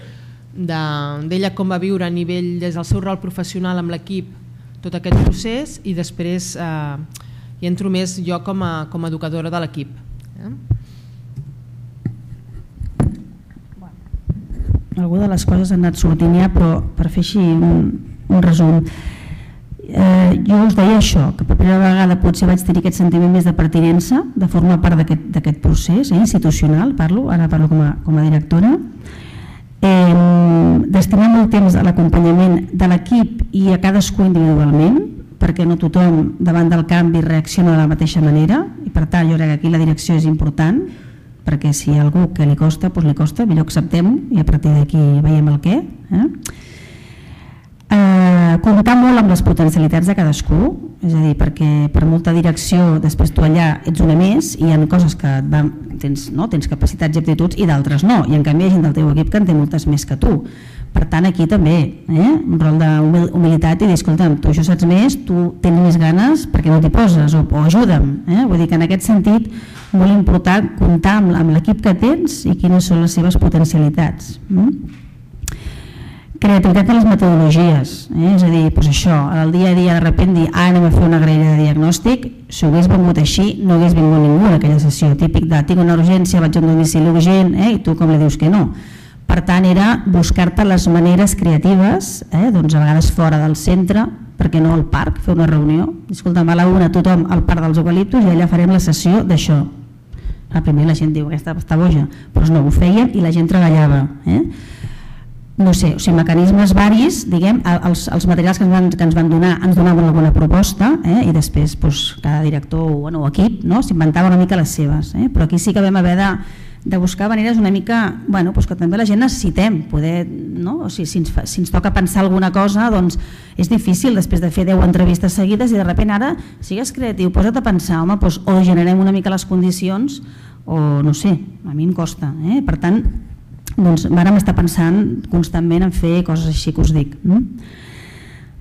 d'ella com va viure a nivell des del seu rol professional amb l'equip tot aquest procés i després eh, hi entro més jo com a, com a educadora de l'equip. Eh? Alguna de les coses han anat sortint ja, però per fer així un, un resum. Eh, jo us deia això, que per primera vegada potser vaig tenir aquest sentiment més de pertinença, de formar part d'aquest procés eh, institucional, parlo, ara parlo com a, com a directora. Eh, destinar molt temps a l'acompanyament de l'equip i a cadascú individualment, perquè no tothom davant del canvi reacciona de la mateixa manera i per tant jo crec que aquí la direcció és important, perquè si hi ha algú que li costa, doncs li costa, millor acceptem i a partir d'aquí veiem el què. Eh? Eh, comptar molt amb les potencialitats de cadascú, és a dir, perquè per molta direcció després tu allà ets una més i hi ha coses que et van, tens, no? tens capacitats i aptituds i d'altres no, i en canvi hi ha gent del teu equip que en té moltes més que tu. Per tant aquí també eh? un rol d'humilitat i dir, escolta'm, tu això saps més, tu tens més ganes perquè no t'hi poses o, o ajuda'm. Eh? Vull dir que en aquest sentit molt important comptar amb, amb l'equip que tens i quines són les seves potencialitats. Mm? Creativitat de les metodologies, eh? és a dir, doncs això, al dia a dia de sobte dir ah, anem a fer una graella de diagnòstic, si ho hagués vengut així no hagués vingut ningú en aquella sessió, típic de tinc una urgència, vaig a un domicili urgent eh? i tu com li dius que no. Per tant era buscar-te les maneres creatives, eh? doncs a vegades fora del centre, perquè no al parc, fer una reunió, escolta'm, a la una tothom al parc dels eucaliptus i allà farem la sessió d'això. A primer la gent diu aquesta està boja, però no, ho feien i la gent treballava. Eh? no sé, o sigui, mecanismes varis, diguem, els, els materials que ens van, que ens van donar ens donaven alguna proposta, eh, i després doncs, cada director o bueno, equip, no, s'inventava una mica les seves, eh, però aquí sí que vam haver de, de buscar maneres una mica, bueno, doncs que també la gent necessitem poder, no? O sigui, si ens, fa, si ens toca pensar alguna cosa, doncs és difícil després de fer deu entrevistes seguides i de sobte ara sigues creatiu, posa't a pensar, home, doncs, o generem una mica les condicions o no sé, a mi em costa, eh? Per tant, doncs vàrem estar pensant constantment en fer coses així que us dic. No?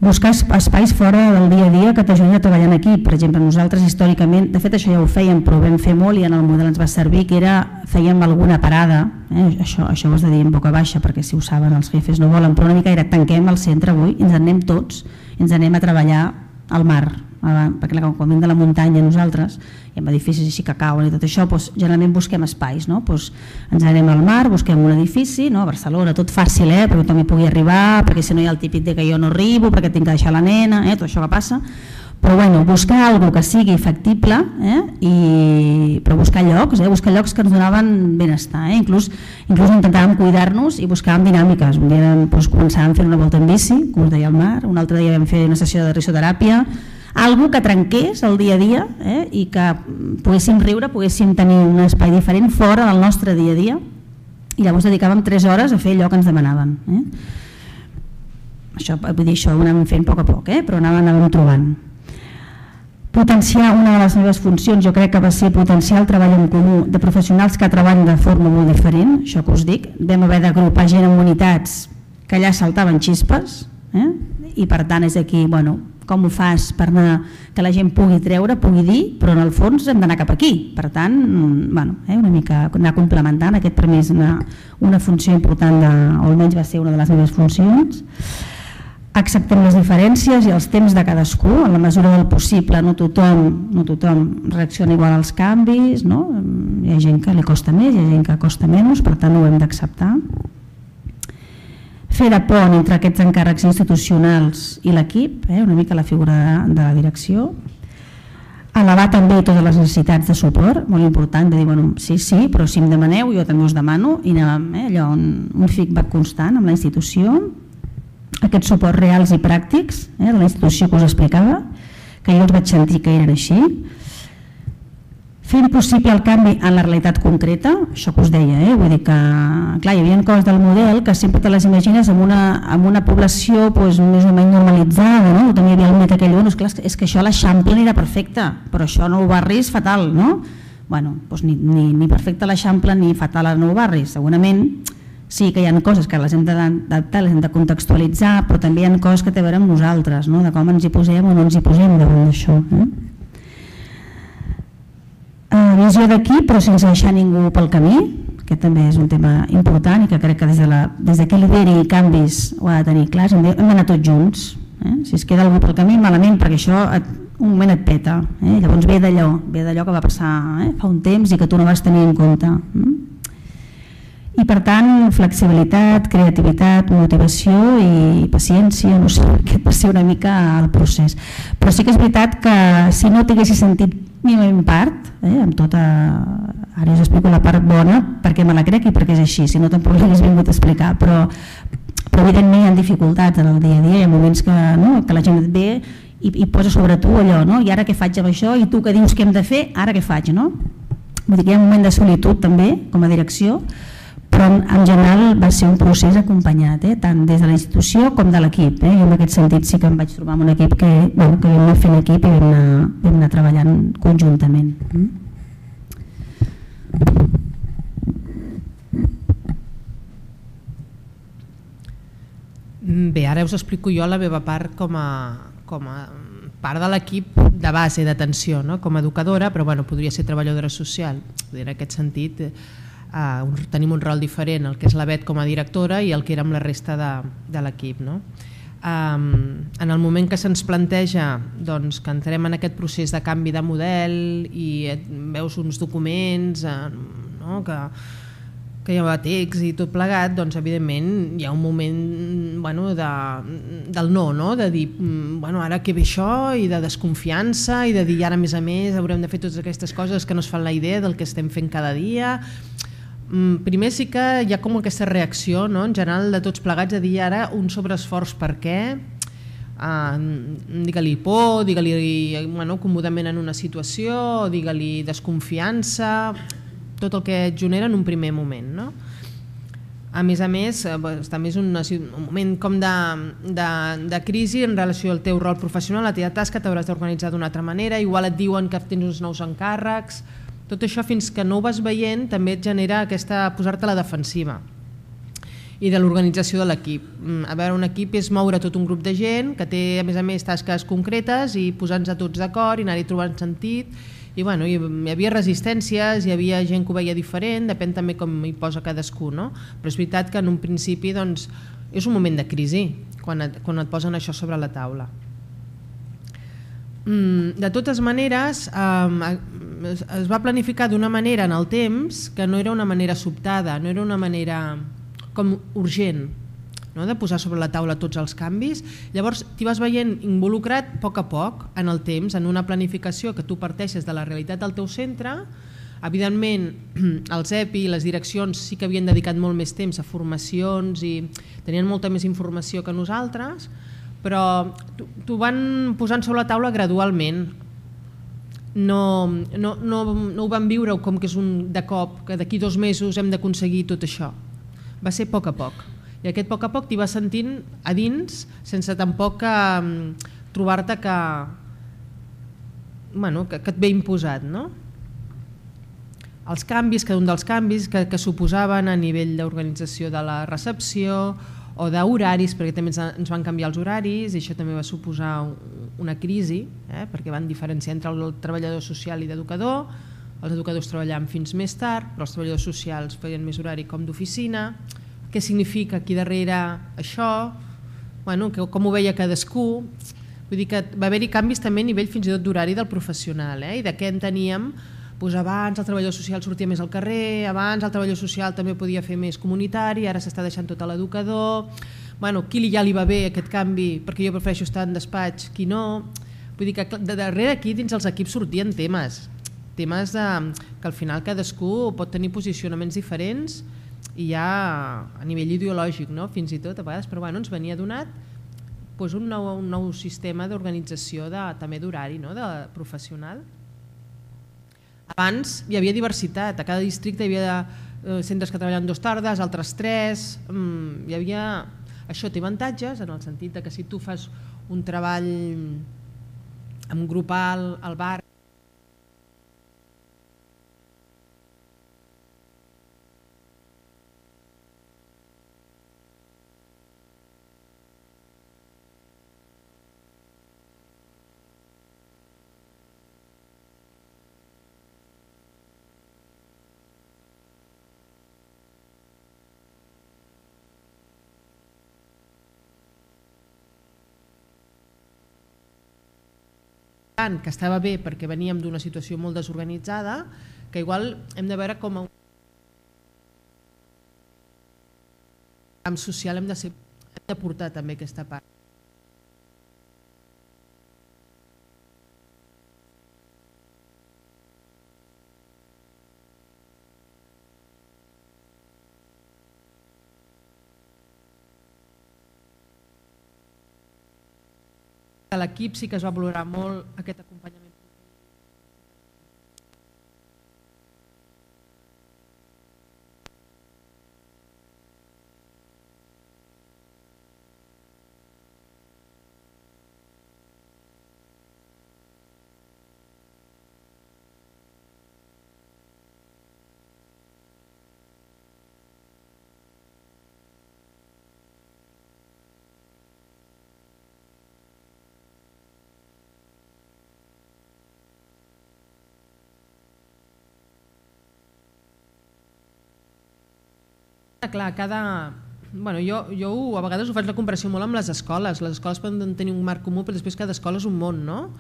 Buscar espais fora del dia a dia que t'ajudin a treballar en equip. Per exemple, nosaltres històricament, de fet això ja ho fèiem, però ho vam fer molt i en el model ens va servir, que era, fèiem alguna parada, eh? això, això ho has de dir en boca baixa perquè si ho saben els jefes no volen, però una mica era tanquem el centre avui i ens en anem tots i ens anem a treballar al mar, perquè quan venim de la muntanya nosaltres i amb edificis així que cauen i tot això, doncs, generalment busquem espais, no? Doncs ens anem al mar, busquem un edifici, no? A Barcelona, tot fàcil, eh? Perquè també pugui arribar, perquè si no hi ha el típic de que jo no arribo, perquè tinc que deixar la nena, eh? Tot això que passa, però bueno, buscar alguna que sigui factible, eh? I, però buscar llocs, eh? Buscar llocs que ens donaven benestar, eh? inclús, inclús intentàvem cuidar-nos i buscàvem dinàmiques. Un dia doncs, començàvem fent una volta en bici, com us deia al mar, un altre dia vam fer una sessió de risoteràpia, algo que trenqués el dia a dia, eh? I que poguéssim riure, poguéssim tenir un espai diferent fora del nostre dia a dia, i llavors dedicàvem tres hores a fer allò que ens demanaven. Eh? Això, vull dir, això ho anàvem fent a poc a poc, eh? Però anàvem, anàvem trobant. Potenciar una de les meves funcions, jo crec que va ser potenciar el treball en comú de professionals que treballen de forma molt diferent, això que us dic. Vam haver d'agrupar gent en unitats que allà saltaven xispes, eh? I per tant és aquí, bueno, com ho fas per anar, que la gent pugui treure, pugui dir, però en el fons hem d'anar cap aquí. Per tant, bueno, eh, una mica anar complementant, aquest per mi és una, una funció important, de, o almenys va ser una de les meves funcions. Acceptem les diferències i els temps de cadascú, en la mesura del possible, no tothom, no tothom reacciona igual als canvis, no? Hi ha gent que li costa més, hi ha gent que costa menys, per tant ho hem d'acceptar. Fer de pont entre aquests encàrrecs institucionals i l'equip, eh, una mica la figura de, de la direcció. Elevar també totes les necessitats de suport, molt important, de dir, bueno, sí, sí, però si em demaneu, jo també us demano, i anem, eh, allò, un, un feedback constant amb la institució, aquests suports reals i pràctics, eh, de la institució que us explicava, que jo els vaig sentir que eren així. Fent possible el canvi en la realitat concreta, això que us deia, eh? Vull dir que clar, hi havia coses del model que sempre te les imagines amb una, amb una població pues, més o menys normalitzada, no? També hi havia el met aquell, bueno, és, clar, és que això a l'Eixample era perfecte, però això a Nou Barri és fatal, no? Bueno, doncs ni, ni, ni perfecte a l'Eixample ni fatal a Nou Barri, segurament sí que hi ha coses que les hem d'adaptar, les hem de contextualitzar, però també hi ha coses que té a veure amb nosaltres, no? De com ens hi posem o no ens hi posem davant d'això. Eh? Uh, visió d'aquí però sense deixar ningú pel camí, que també és un tema important i que crec que des de, la, des de que lideri canvis ho ha de tenir clars, hem d'anar tots junts, eh? Si es queda algú pel camí malament perquè això et, un moment et peta, eh? Llavors ve d'allò ve d'allò que va passar eh? fa un temps i que tu no vas tenir en compte. Eh? I per tant flexibilitat, creativitat, motivació i paciència, no sé, aquest va ser una mica el procés. Però sí que és veritat que si no t'haguessis sentit mínimament part, eh, amb tota, ara us explico la part bona perquè me la crec i perquè és així, si no tampoc l'hagués vingut a explicar, però, però evidentment hi ha dificultats en el dia a dia, hi ha moments que, no, que la gent et ve i, i posa sobre tu allò, no? I ara què faig amb això? I tu que dius què hem de fer? Ara què faig? No? Vull dir que hi ha un moment de solitud també com a direcció, però en general va ser un procés acompanyat, eh? Tant des de la institució com de l'equip. Eh? I en aquest sentit sí que em vaig trobar amb un equip que, bueno, que vam anar fent equip i vam anar, vam anar treballant conjuntament. Bé, ara us explico jo la meva part com a, com a part de l'equip de base d'atenció, no? Com a educadora, però bueno, podria ser treballadora social. En aquest sentit, Uh, un, tenim un rol diferent, el que és la Bet com a directora i el que era amb la resta de, de l'equip. No? Um, en el moment que se'ns planteja doncs, que entrem en aquest procés de canvi de model i et, veus uns documents uh, no? que, que hi ha text i tot plegat, doncs evidentment hi ha un moment bueno, de, del no, no, de dir bueno, ara què ve això, i de desconfiança i de dir ara a més a més haurem de fer totes aquestes coses que no es fan la idea del que estem fent cada dia. Primer sí que hi ha com aquesta reacció, no? En general de tots plegats, a dir ara un sobreesforç per què, uh, digue-li por, digue-li bueno, comodament en una situació, digue-li desconfiança, tot el que et genera en un primer moment. No? A més a més, també és un, un moment com de, de, de crisi en relació al teu rol professional, la teva tasca t'hauràs d'organitzar d'una altra manera, igual et diuen que tens uns nous encàrrecs, tot això fins que no ho vas veient també et genera aquesta posar-te a la defensiva i de l'organització de l'equip. A veure, un equip és moure tot un grup de gent que té a més a més tasques concretes i posar-nos a tots d'acord i anar-hi trobant sentit i bueno, hi havia resistències, hi havia gent que ho veia diferent, depèn també com hi posa cadascú, no? Però és veritat que en un principi doncs, és un moment de crisi quan et, quan et posen això sobre la taula. De totes maneres, es va planificar d'una manera en el temps que no era una manera sobtada, no era una manera com urgent, no? De posar sobre la taula tots els canvis. Llavors t'hi vas veient involucrat a poc a poc en el temps, en una planificació que tu parteixes de la realitat del teu centre. Evidentment els E P I i les direccions sí que havien dedicat molt més temps a formacions i tenien molta més informació que nosaltres, però t'ho van posant sobre la taula gradualment. No, no, no, no ho van viure com que és un de cop, que d'aquí dos mesos hem d'aconseguir tot això. Va ser a poc a poc. I aquest poc a poc t'hi vas sentint a dins sense tampoc um, trobar-te que, bueno, que, que et ve imposat. No? Els canvis, cada un dels canvis que, que suposaven a nivell d'organització de la recepció o d'horaris, perquè també ens van canviar els horaris i això també va suposar una crisi, eh? Perquè van diferenciar entre el treballador social i l'educador. Els educadors treballaven fins més tard, però els treballadors socials feien més horari com d'oficina. Què significa aquí darrere això? Bueno, com ho veia cadascú? Vull dir que va haver-hi canvis també a nivell fins i tot d'horari del professional, eh? I de què enteníem. Doncs abans el treballador social sortia més al carrer, abans el treballador social també podia fer més comunitari, ara s'està deixant tot a l'educador. Bueno, qui ja li va bé aquest canvi perquè jo prefereixo estar en despatx, qui no. Vull dir que de darrere aquí dins els equips sortien temes, temes de, que al final cadascú pot tenir posicionaments diferents i ja a nivell ideològic, no? Fins i tot a vegades, però bueno, ens venia donat doncs un, nou, un nou sistema d'organització de, també d'horari, no? De professional. Abans hi havia diversitat, a cada districte hi havia eh, centres que treballaven dues tardes, altres tres, mm, hi havia... Això té avantatges en el sentit que si tu fas un treball amb grupal al bar, que estava bé perquè veníem d'una situació molt desorganitzada, que igual hem de veure com a un camp social hem de, ser, hem de portar també aquesta part. A l'equip sí que es va valorar molt aquest acompanyament. Clar, cada... Bueno, jo, jo a vegades ho faig la comparació molt amb les escoles. Les escoles poden tenir un marc comú, però després cada escola és un món, no?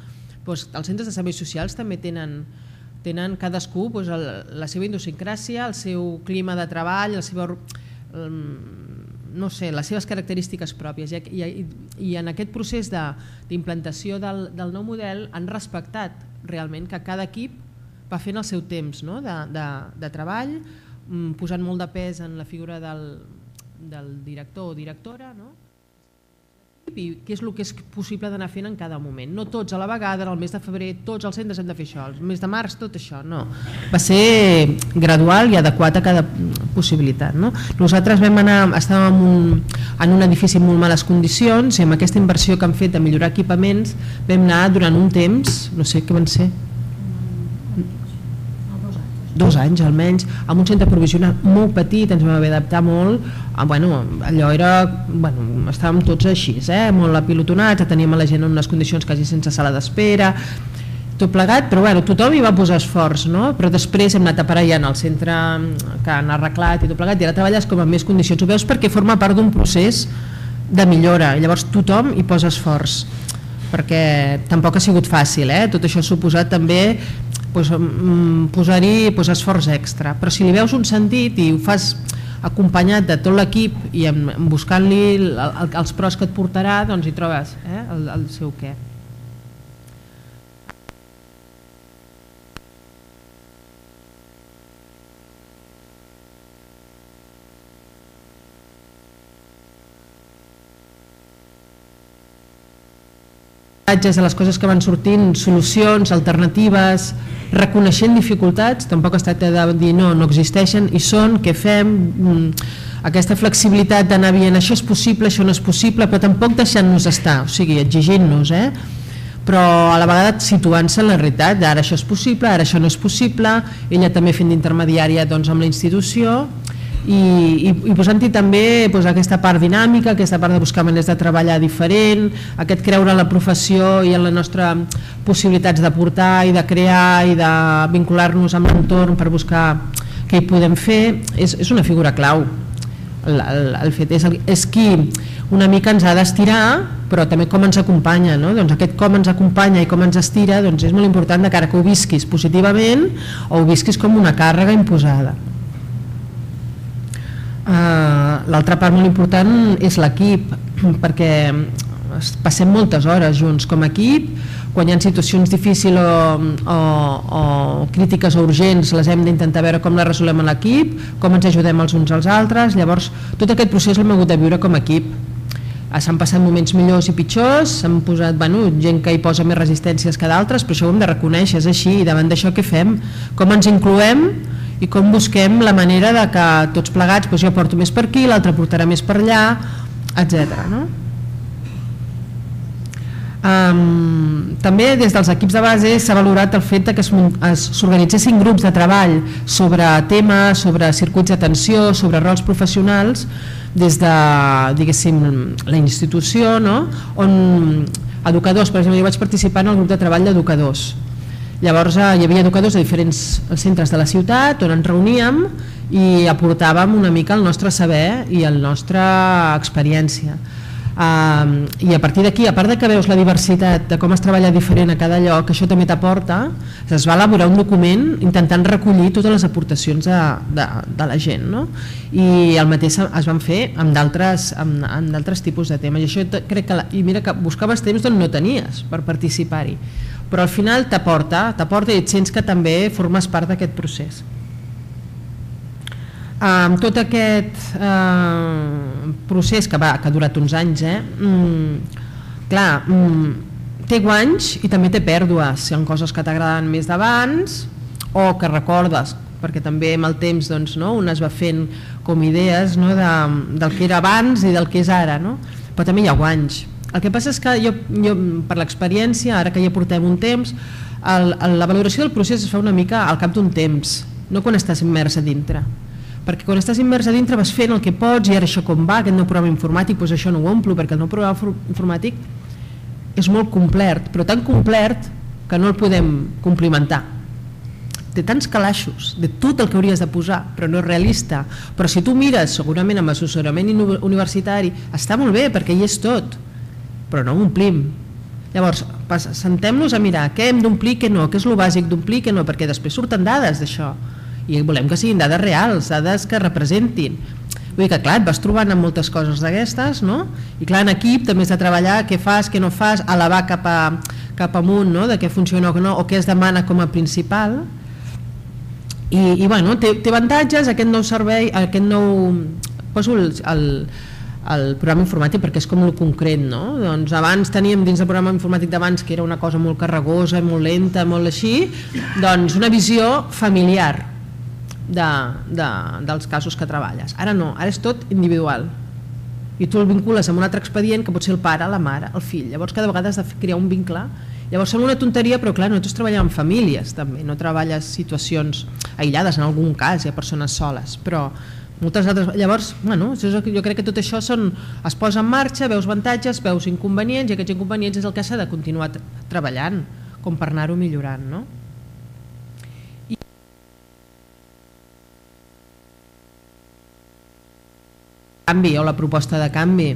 Pues els centres de serveis socials també tenen, tenen cadascú pues, el, la seva idiosincràsia, el seu clima de treball, el seu, el, no sé, les seves característiques pròpies. I, i, i en aquest procés d'implantació de, del, del nou model han respectat realment que cada equip va fent el seu temps, no? de, de, de treball, posant molt de pes en la figura del, del director o directora, no? I què és el que és possible d'anar fent en cada moment. No tots a la vegada, el mes de febrer tots els centres hem de fer això, el mes de març tot això, no. Va ser gradual i adequat a cada possibilitat. No? Nosaltres vam anar, estàvem en un, en un edifici en molt males condicions i amb aquesta inversió que han fet de millorar equipaments vam anar durant un temps, no sé què van ser, dos anys almenys, amb un centre provisional molt petit, ens vam haver d'adaptar molt, bueno, allò era, bueno, estàvem tots així, eh? Molt apilotonats, teníem a la gent en unes condicions quasi sense sala d'espera, tot plegat, però bueno, tothom hi va posar esforç, no? Però després hem anat aparellant el centre que han arreglat i tot plegat, i ara treballes com en més condicions, ho veus perquè forma part d'un procés de millora, i llavors tothom hi posa esforç, perquè tampoc ha sigut fàcil, eh? Tot això ha suposat també pues, posar-hi pues, esforç extra, però si li veus un sentit i ho fas acompanyat de tot l'equip i buscant-li els pros que et portarà, doncs hi trobes eh, el, el seu què. A les coses que van sortint, solucions, alternatives, reconeixent dificultats, tampoc es tracta de dir no, no existeixen, i són, què fem, aquesta flexibilitat d'anar dient això és possible, això no és possible, però tampoc deixant-nos estar, o sigui, exigint-nos, eh? Però a la vegada situant-se en la realitat, ara això és possible, ara això no és possible, ella també fent d'intermediària doncs, amb la institució, i, i, i posant-hi també doncs, aquesta part dinàmica, aquesta part de buscar maneres de treballar diferent, aquest creure en la professió i en les nostres possibilitats d'aportar i de crear i de vincular-nos amb l'entorn per buscar què hi podem fer, és, és una figura clau. El, el, el fet és, és qui una mica ens ha d'estirar, però també com ens acompanya, no? Doncs aquest com ens acompanya i com ens estira doncs és molt important de cara que ho visquis positivament o ho visquis com una càrrega imposada. Uh, l'altra part molt important és l'equip, perquè passem moltes hores junts com a equip, quan hi ha situacions difícils o, o, o crítiques o urgents les hem d'intentar veure com les resolem a l'equip, com ens ajudem els uns als altres, llavors tot aquest procés l'hem hagut de viure com a equip. S'han passat moments millors i pitjors, s'han posat bueno, gent que hi posa més resistències que d'altres, però això ho hem de reconèixer, és així, i davant d'això què fem? Com ens incloem i com busquem la manera de que tots plegats, doncs jo porto més per aquí, l'altre portarà més per allà, etcètera. No? Um, també des dels equips de base s'ha valorat el fet que s'organitzessin grups de treball sobre temes, sobre circuits d'atenció, sobre rols professionals des de, diguéssim, la institució, no? On educadors, per exemple, jo vaig participar en el grup de treball d'educadors. Llavors hi havia educadors de diferents centres de la ciutat on ens reuníem i aportàvem una mica el nostre saber i la nostra experiència. Uh, I a partir d'aquí, a part de que veus la diversitat de com es treballa diferent a cada lloc, això també t'aporta, es va elaborar un document intentant recollir totes les aportacions de, de, de la gent, no? I el mateix es van fer amb d'altres amb, amb d'altres tipus de temes, i això crec que, la, i mira que buscaves temps on no tenies per participar-hi, però al final t'aporta, t'aporta i et sents que també formes part d'aquest procés. Amb tot aquest eh, procés que, va, que ha durat uns anys, eh, mm, clar, mm, té guanys i també té pèrdues, si hi ha coses que t'agraden més d'abans o que recordes, perquè també amb el temps doncs, no, un es va fent com idees, no, de, del que era abans i del que és ara, no? Però també hi ha guanys. El que passa és que jo, jo per l'experiència, ara que ja portem un temps, el, el, la valoració del procés es fa una mica al cap d'un temps, no quan estàs immers a dintre. Perquè quan estàs immers a dintre vas fent el que pots i ara això com va, aquest nou programa informàtic, doncs això no ho omplo, perquè el nou programa informàtic és molt complet, però tan complet que no el podem complimentar. Té tants calaixos de tot el que hauries de posar, però no és realista. Però si tu mires, segurament amb assessorament universitari, està molt bé perquè hi és tot, però no ho omplim. Llavors, sentem-nos a mirar què hem d'omplir, què no, què és el bàsic d'omplir, què no, perquè després surten dades d'això. I volem que siguin dades reals, dades que representin. Vull dir que clar, et vas trobant amb moltes coses d'aquestes, no? I clar, en equip també has de treballar què fas, què no fas, elevar cap, a, cap amunt, no? De què funciona o no, o què es demana com a principal. I, i bueno, té, té avantatges aquest nou servei, aquest nou... Poso el, el, el programa informàtic perquè és com el concret, no? Doncs abans teníem dins del programa informàtic d'abans, que era una cosa molt carregosa, molt lenta, molt així, doncs una visió familiar de, de, dels casos que treballes. Ara no, ara és tot individual. I tu el vincules amb un altre expedient que pot ser el pare, la mare, el fill. Llavors cada vegada has de crear un vincle. Llavors sembla una tonteria, però clar, nosaltres treballem amb famílies també, no treballes situacions aïllades, en algun cas hi ha persones soles, però moltes altres... Llavors, bueno, jo crec que tot això són, es posa en marxa, veus avantatges, veus inconvenients, i aquests inconvenients és el que s'ha de continuar treballant, com per anar-ho millorant, no? I... canvi o la proposta de canvi.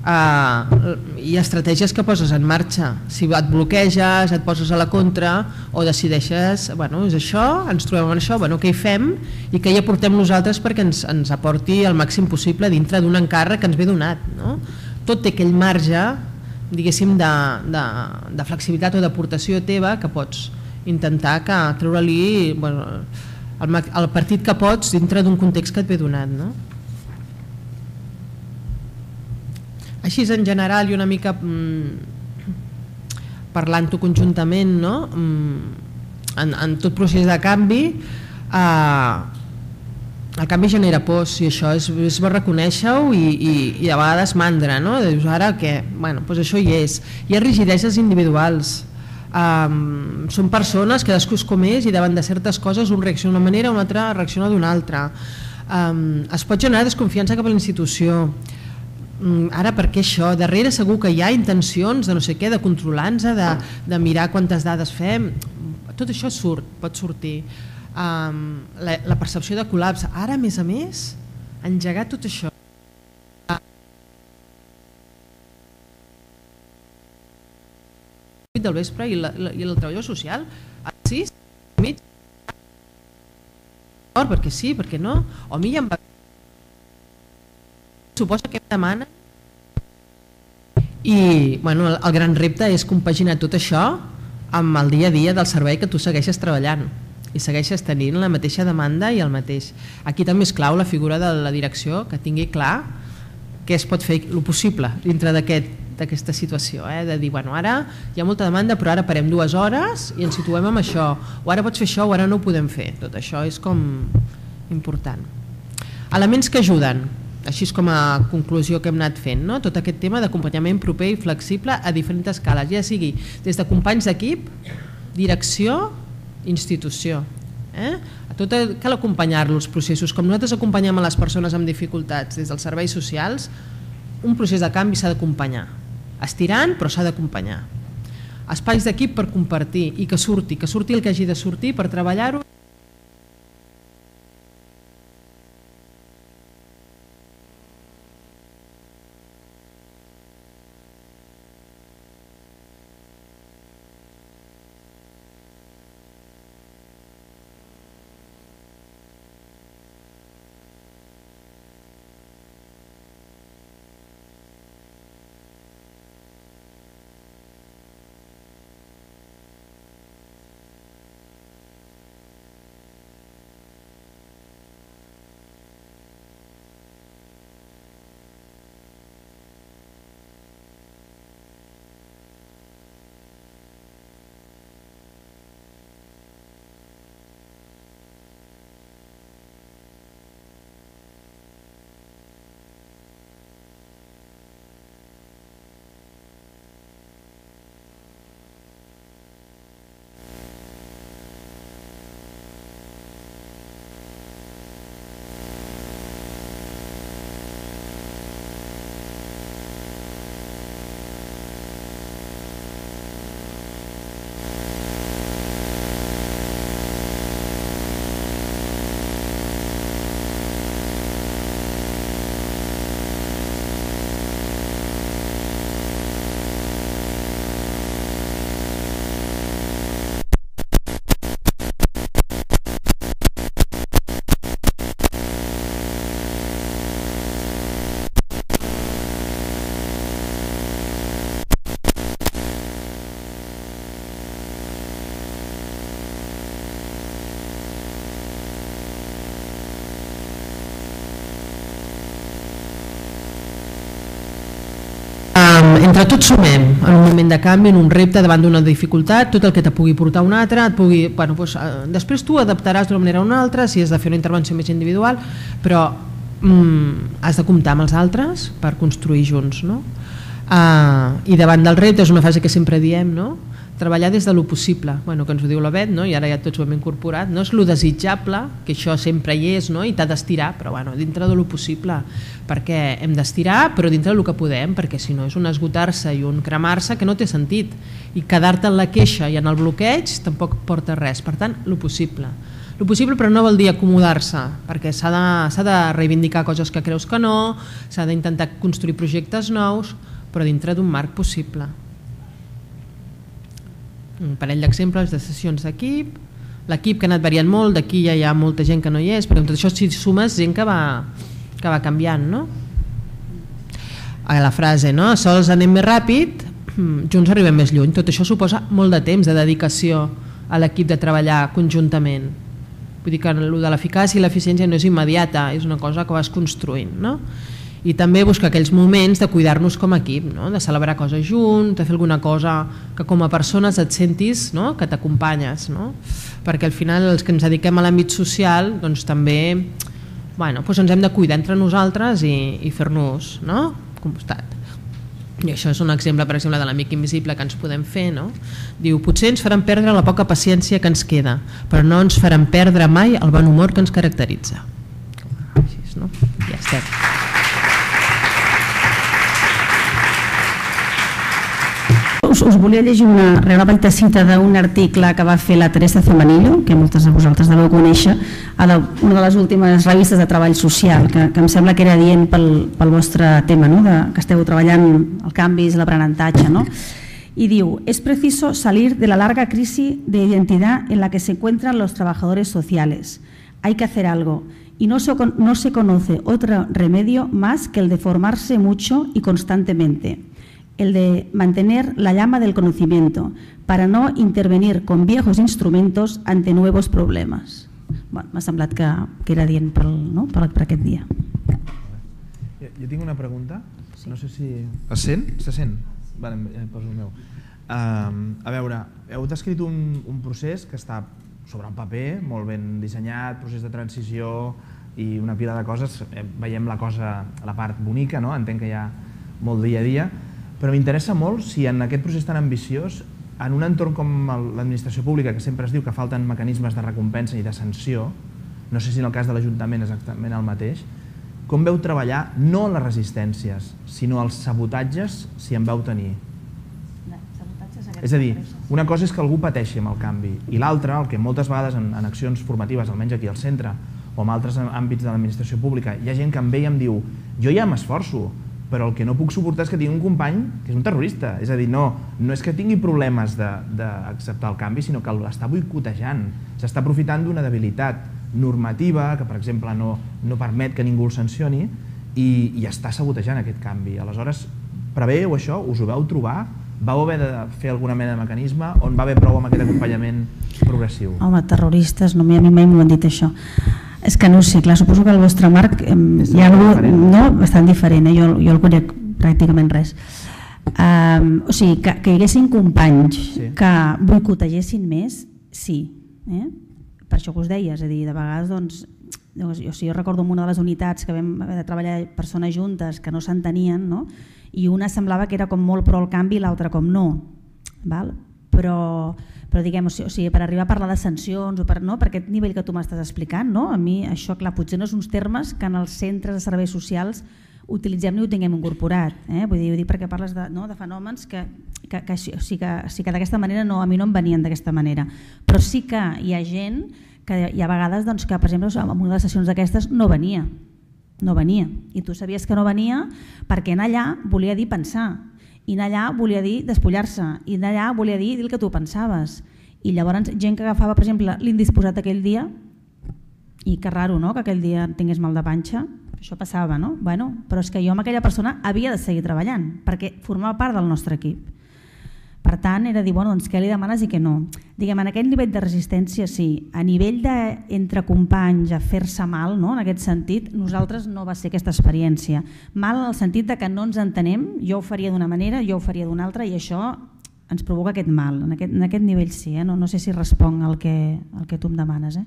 Uh, hi ha estratègies que poses en marxa. Si et bloqueges, et poses a la contra o decideixes, bueno, és això, ens trobem en això, bueno, què hi fem i què hi aportem nosaltres perquè ens, ens aporti el màxim possible dintre d'un encàrrec que ens ve donat, no? Tot té aquell marge, diguéssim, de, de, de flexibilitat o d'aportació teva que pots intentar que treure-li, bueno, el, el partit que pots dintre d'un context que et ve donat, no? Així en general i una mica mm, parlant-ho conjuntament, no? mm, en, en tot procés de canvi eh, el canvi genera pors i això és, és bo reconèixer-ho i, i, i a vegades mandra, no? Dius ara què? Bueno, doncs això hi és. Hi ha rigideses individuals, um, són persones, cadascú és com és i davant de certes coses un reacciona d'una manera, un altre reacciona d'una altra. Um, es pot generar desconfiança cap a la institució. Ara per què això? Darrere segur que hi ha intencions de no sé què, de controlar-nos, de, de mirar quantes dades fem, tot això surt, pot sortir. Um, la, la percepció de col·lapse, ara a més a més, engegar tot això. Del vespre i, la, la, i el treballador social a les sis i mig, perquè sí, perquè no, o a mi ja em va... Suposa que em demana i bueno, el, el gran repte és compaginar tot això amb el dia a dia del servei que tu segueixes treballant i segueixes tenint la mateixa demanda i el mateix. Aquí també és clau la figura de la direcció, que tingui clar què es pot fer el possible dintre d'aquest d'aquesta situació, eh? De dir, bueno, ara hi ha molta demanda però ara parem dues hores i ens situem amb això, o ara pots fer això o ara no ho podem fer. Tot això és com important. Elements que ajuden, així és com a conclusió que hem anat fent, no? Tot aquest tema d'acompanyament proper i flexible a diferents escales, ja sigui des de companys d'equip, direcció, institució. Eh? A tot cal acompanyar-lo els processos, com nosaltres acompanyem a les persones amb dificultats des dels serveis socials, un procés de canvi s'ha d'acompanyar, estirant però s'ha d'acompanyar. Espais d'equip per compartir i que surti, que surti el que hagi de sortir per treballar-ho. entre tots sumem en un moment de canvi, en un repte davant d'una dificultat, tot el que te pugui portar un altre, et pugui, bueno, doncs, eh, després tu adaptaràs d'una manera o una altra, si has de fer una intervenció més individual, però mm, has de comptar amb els altres per construir junts, no? Uh, i davant del repte és una frase que sempre diem, no? Treballar des de lo possible, bueno, que ens ho diu la Bet, no? I ara ja tots ho hem incorporat, no és lo desitjable, que això sempre hi és, no? I t'ha d'estirar, però bueno, dintre de lo possible, perquè hem d'estirar, però dintre del que podem, perquè si no és un esgotar-se i un cremar-se que no té sentit, i quedar-te en la queixa i en el bloqueig tampoc porta res, per tant, lo possible. Lo possible, però no vol dir acomodar-se, perquè s'ha de, s'ha de reivindicar coses que creus que no, s'ha d'intentar construir projectes nous, però dintre d'un marc possible. Un parell d'exemples de sessions d'equip, l'equip que ha anat variant molt, d'aquí ja hi ha molta gent que no hi és, perquè amb tot això si sumes gent que va, que va canviant, no? A la frase, no? Sols anem més ràpid, junts arribem més lluny. Tot això suposa molt de temps de dedicació a l'equip de treballar conjuntament. Vull dir que el de l'eficàcia i l'eficiència no és immediata, és una cosa que vas construint, no? I també buscar aquells moments de cuidar-nos com a equip, no? De celebrar coses junts, de fer alguna cosa que com a persones et sentis, no? Que t'acompanyes, no? Perquè al final els que ens dediquem a l'àmbit social doncs també, bueno, doncs ens hem de cuidar entre nosaltres i, i fer-nos, no? Costat. I això és un exemple, per exemple, de l'amic invisible que ens podem fer, no? Diu, potser ens faran perdre la poca paciència que ens queda, però no ens faran perdre mai el bon humor que ens caracteritza. Així, no? Ja estem. Us, us volia llegir una, una petita cita d'un article que va fer la Teresa Zamanillo, que moltes de vosaltres deveu conèixer, a la, una de les últimes revistes de treball social, que, que em sembla que era dient pel, pel vostre tema, no? De, que esteu treballant el canvis, l'aprenentatge, no? Y diu, es preciso salir de la larga crisis de identidad en la que se encuentran los trabajadores sociales. Hay que hacer algo y no se, no se conoce otro remedio más que el de formarse mucho y constantemente. El de mantener la llama del conocimiento para no intervenir con viejos instrumentos ante nuevos problemas. Bueno, m'ha semblat que, que era dient per, no? per, per aquest dia. Jo tinc una pregunta, no sé si... Es sent? Se sent? Vale, ja poso el meu. Uh, a veure, heu descrit un, un procés que està sobre un paper, molt ben dissenyat, procés de transició i una pila de coses. Veiem la cosa, la part bonica, no? Entenc que hi ha molt dia a dia, però m'interessa molt si en aquest procés tan ambiciós, en un entorn com l'administració pública, que sempre es diu que falten mecanismes de recompensa i de sanció, no sé si en el cas de l'Ajuntament és exactament el mateix, com veu treballar no les resistències, sinó els sabotatges, si en veu tenir? És a dir, una cosa és que algú pateixi amb el canvi i l'altra, el que moltes vegades en, en accions formatives, almenys aquí al centre, o en altres àmbits de l'administració pública, hi ha gent que em ve i em diu jo ja m'esforço, però el que no puc suportar és que tingui un company que és un terrorista. És a dir, no, no és que tingui problemes d'acceptar el canvi, sinó que l'està boicotejant, s'està aprofitant d'una debilitat normativa que, per exemple, no, no permet que ningú el sancioni i, i està sabotejant aquest canvi. Aleshores, preveu això? Us ho vau trobar? Vau haver de fer alguna mena de mecanisme on va haver prou amb aquest acompanyament progressiu? Home, terroristes, no, a mi mai m'ho han dit això. És que no sé, clar, suposo que el vostre marc eh, hi ha alguna cosa no, bastant diferent, eh? jo, jo el conec pràcticament res. Um, o sigui, que, que hi haguessin companys sí. que boicotegessin més, sí. Eh? Per això que us deia, és a dir, de vegades, doncs, jo, jo, jo recordo en una de les unitats que vam haver de treballar persones juntes que no s'entenien, no? I una semblava que era com molt pro al canvi i l'altra com no, val? Però... però diguem, o sigui, per arribar a parlar de sancions o per, no, per aquest nivell que tu m'estàs explicant, no? A mi això, clar, potser no són uns termes que en els centres de serveis socials utilitzem ni ho tinguem incorporat, eh? Vull dir, ho dic perquè parles de, no, de fenòmens que, que, que, o sigui, que, o sigui, que d'aquesta manera no, a mi no em venien d'aquesta manera, però sí que hi ha gent que hi ha vegades doncs, que, per exemple, en una de les sessions d'aquestes no venia, no venia, i tu sabies que no venia perquè anar allà volia dir pensar, i anar allà volia dir despullar-se, i anar allà volia dir dir el que tu pensaves. I llavors gent que agafava, per exemple, l'indisposat aquell dia, i que raro, no?, que aquell dia tingués mal de panxa, això passava, no? Bueno, però és que jo amb aquella persona havia de seguir treballant, perquè formava part del nostre equip. Per tant, era dir, bueno, doncs què li demanes i què no. Diguem, en aquest nivell de resistència, sí. A nivell d'entre companys a fer-se mal, no? En aquest sentit, nosaltres no va ser aquesta experiència. Mal en el sentit de que no ens entenem, jo ho faria d'una manera, jo ho faria d'una altra, i això ens provoca aquest mal. En aquest, en aquest nivell sí, eh? no, no sé si responc al que, al que tu em demanes. Eh?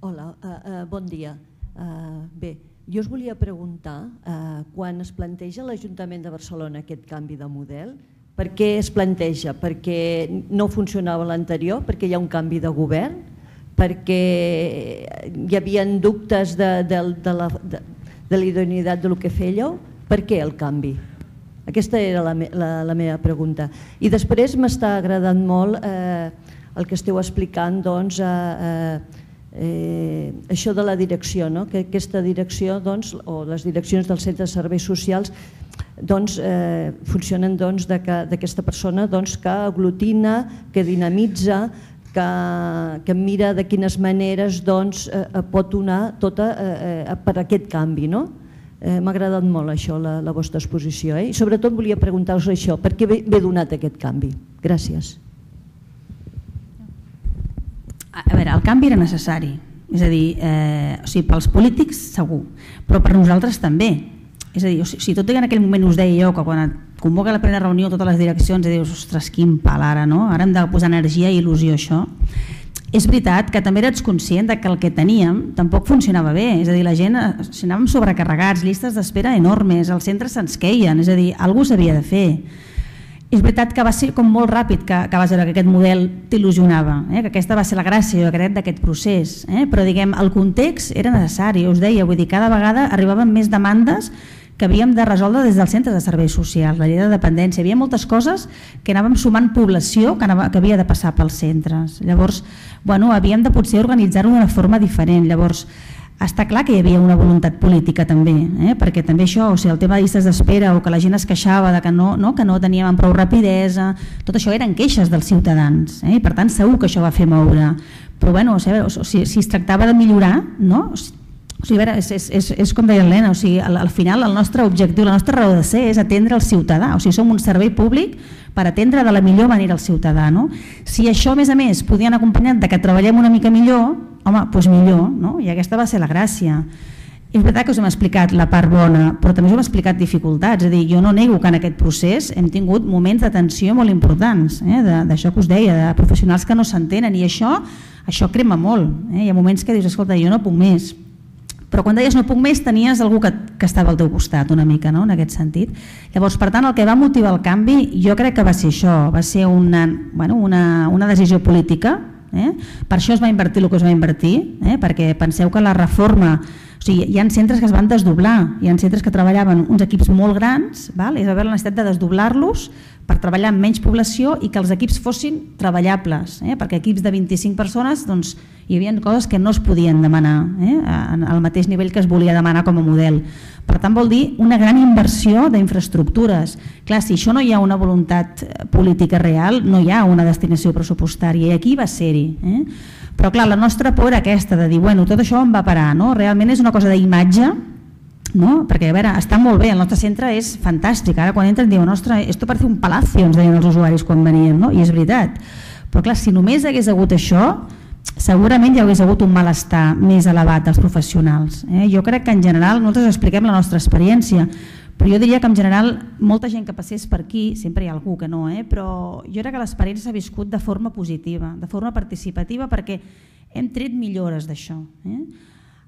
Hola, uh, uh, bon dia. Uh, bé, jo us volia preguntar, uh, quan es planteja a l'Ajuntament de Barcelona aquest canvi de model, per què es planteja? Perquè no funcionava l'anterior, perquè hi ha un canvi de govern, perquè hi havia dubtes de, de, de la, de, de la idoneïtat del que fèieu? Per què el canvi? Aquesta era la, la, la meva pregunta. I després m'està agradant molt eh, el que esteu explicant, doncs, eh, eh, Eh, això de la direcció, no? Que aquesta direcció, doncs, o les direccions dels centres de serveis socials doncs, eh, funcionen doncs, d'aquesta persona doncs, que aglutina, que dinamitza, que, que mira de quines maneres doncs, eh, pot donar tota, eh, per aquest canvi. No? Eh, M'ha agradat molt això, la, la vostra exposició. Eh? I sobretot volia preguntar-vos això, per què ve, ve donat aquest canvi? Gràcies. A veure, el canvi era necessari, és a dir, eh, o sigui, pels polítics segur, però per nosaltres també. És a dir, o sigui, si tot i que en aquell moment us deia jo que quan et convoca la primera reunió totes les direccions i dius, ostres, quin pal ara, no? Ara hem de posar energia i il·lusió a això. És veritat que també eres conscient de que el que teníem tampoc funcionava bé, és a dir, la gent, si anàvem sobrecarregats, llistes d'espera enormes, els centres se'ns queien, és a dir, alguna cosa s'havia de fer. És veritat que va ser com molt ràpid que, que vas veure que aquest model t'il·lusionava, eh? Que aquesta va ser la gràcia, jo crec, d'aquest procés, eh? Però diguem, el context era necessari, us deia, vull dir, cada vegada arribaven més demandes que havíem de resoldre des dels centres de serveis socials, la llei de dependència, hi havia moltes coses que anàvem sumant població que, anava, que havia de passar pels centres, llavors, bueno, havíem de potser organitzar-ho d'una forma diferent, llavors, està clar que hi havia una voluntat política també, eh? Perquè també això, o sigui, el tema de llistes d'espera o que la gent es queixava de que no, no, que no teníem prou rapidesa, tot això eren queixes dels ciutadans, eh? I per tant segur que això va fer moure, però bueno, o sigui, o sigui, si es tractava de millorar, no? O sigui, a veure, és, és, és, és com deia l'Helena, o sigui, al, al final el nostre objectiu, la nostra raó de ser és atendre el ciutadà, o sigui, som un servei públic per atendre de la millor manera el ciutadà, no? Si això a més a més podien acompanyar de que treballem una mica millor, home, doncs millor, no? I aquesta va ser la gràcia. És veritat que us hem explicat la part bona, però també us hem explicat dificultats, és a dir, jo no nego que en aquest procés hem tingut moments de tensió molt importants, eh? D'això que us deia, de professionals que no s'entenen, i això, això crema molt, eh? Hi ha moments que dius, escolta, jo no puc més, però quan deies no puc més tenies algú que, que estava al teu costat una mica, no? En aquest sentit. Llavors, per tant, el que va motivar el canvi jo crec que va ser això, va ser una, bueno, una, una decisió política. Eh? Per això es va invertir el que es va invertir, eh? Perquè penseu que la reforma, o sigui, hi ha centres que es van desdoblar, hi ha centres que treballaven uns equips molt grans, val? I es va haver la necessitat de desdoblar-los per treballar amb menys població i que els equips fossin treballables, eh? Perquè equips de vint-i-cinc persones doncs, hi havia coses que no es podien demanar, eh? Al mateix nivell que es volia demanar com a model. Per tant, vol dir una gran inversió d'infraestructures. Clar, si això no hi ha una voluntat política real, no hi ha una destinació pressupostària, i aquí va ser-hi. Eh? Però clar, la nostra por era aquesta, de dir, bueno, tot això on va parar, no? Realment és una cosa d'imatge, no? Perquè, a veure, està molt bé, el nostre centre és fantàstic, ara quan entren diuen, ostres, esto parece un palacio, ens deien els usuaris quan veníem, no? I és veritat. Però clar, si només hagués hagut això, segurament hi hagués hagut un malestar més elevat dels professionals. Eh? Jo crec que en general, nosaltres expliquem la nostra experiència, però jo diria que en general molta gent que passés per aquí, sempre hi ha algú que no, eh? Però jo crec que l'experiència s'ha viscut de forma positiva, de forma participativa, perquè hem tret millores d'això. Eh?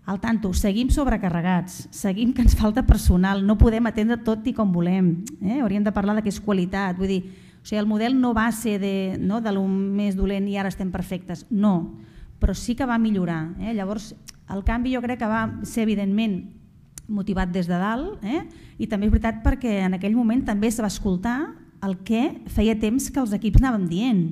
Al tanto, seguim sobrecarregats, seguim que ens falta personal, no podem atendre tot i com volem, eh? Hauríem de parlar de què és qualitat, vull dir, o sigui, el model no va ser de, no, de lo més dolent i ara estem perfectes, no, però sí que va millorar. Eh? Llavors, el canvi jo crec que va ser evidentment motivat des de dalt, eh? I també és veritat perquè en aquell moment també es va escoltar el que feia temps que els equips anàvem dient.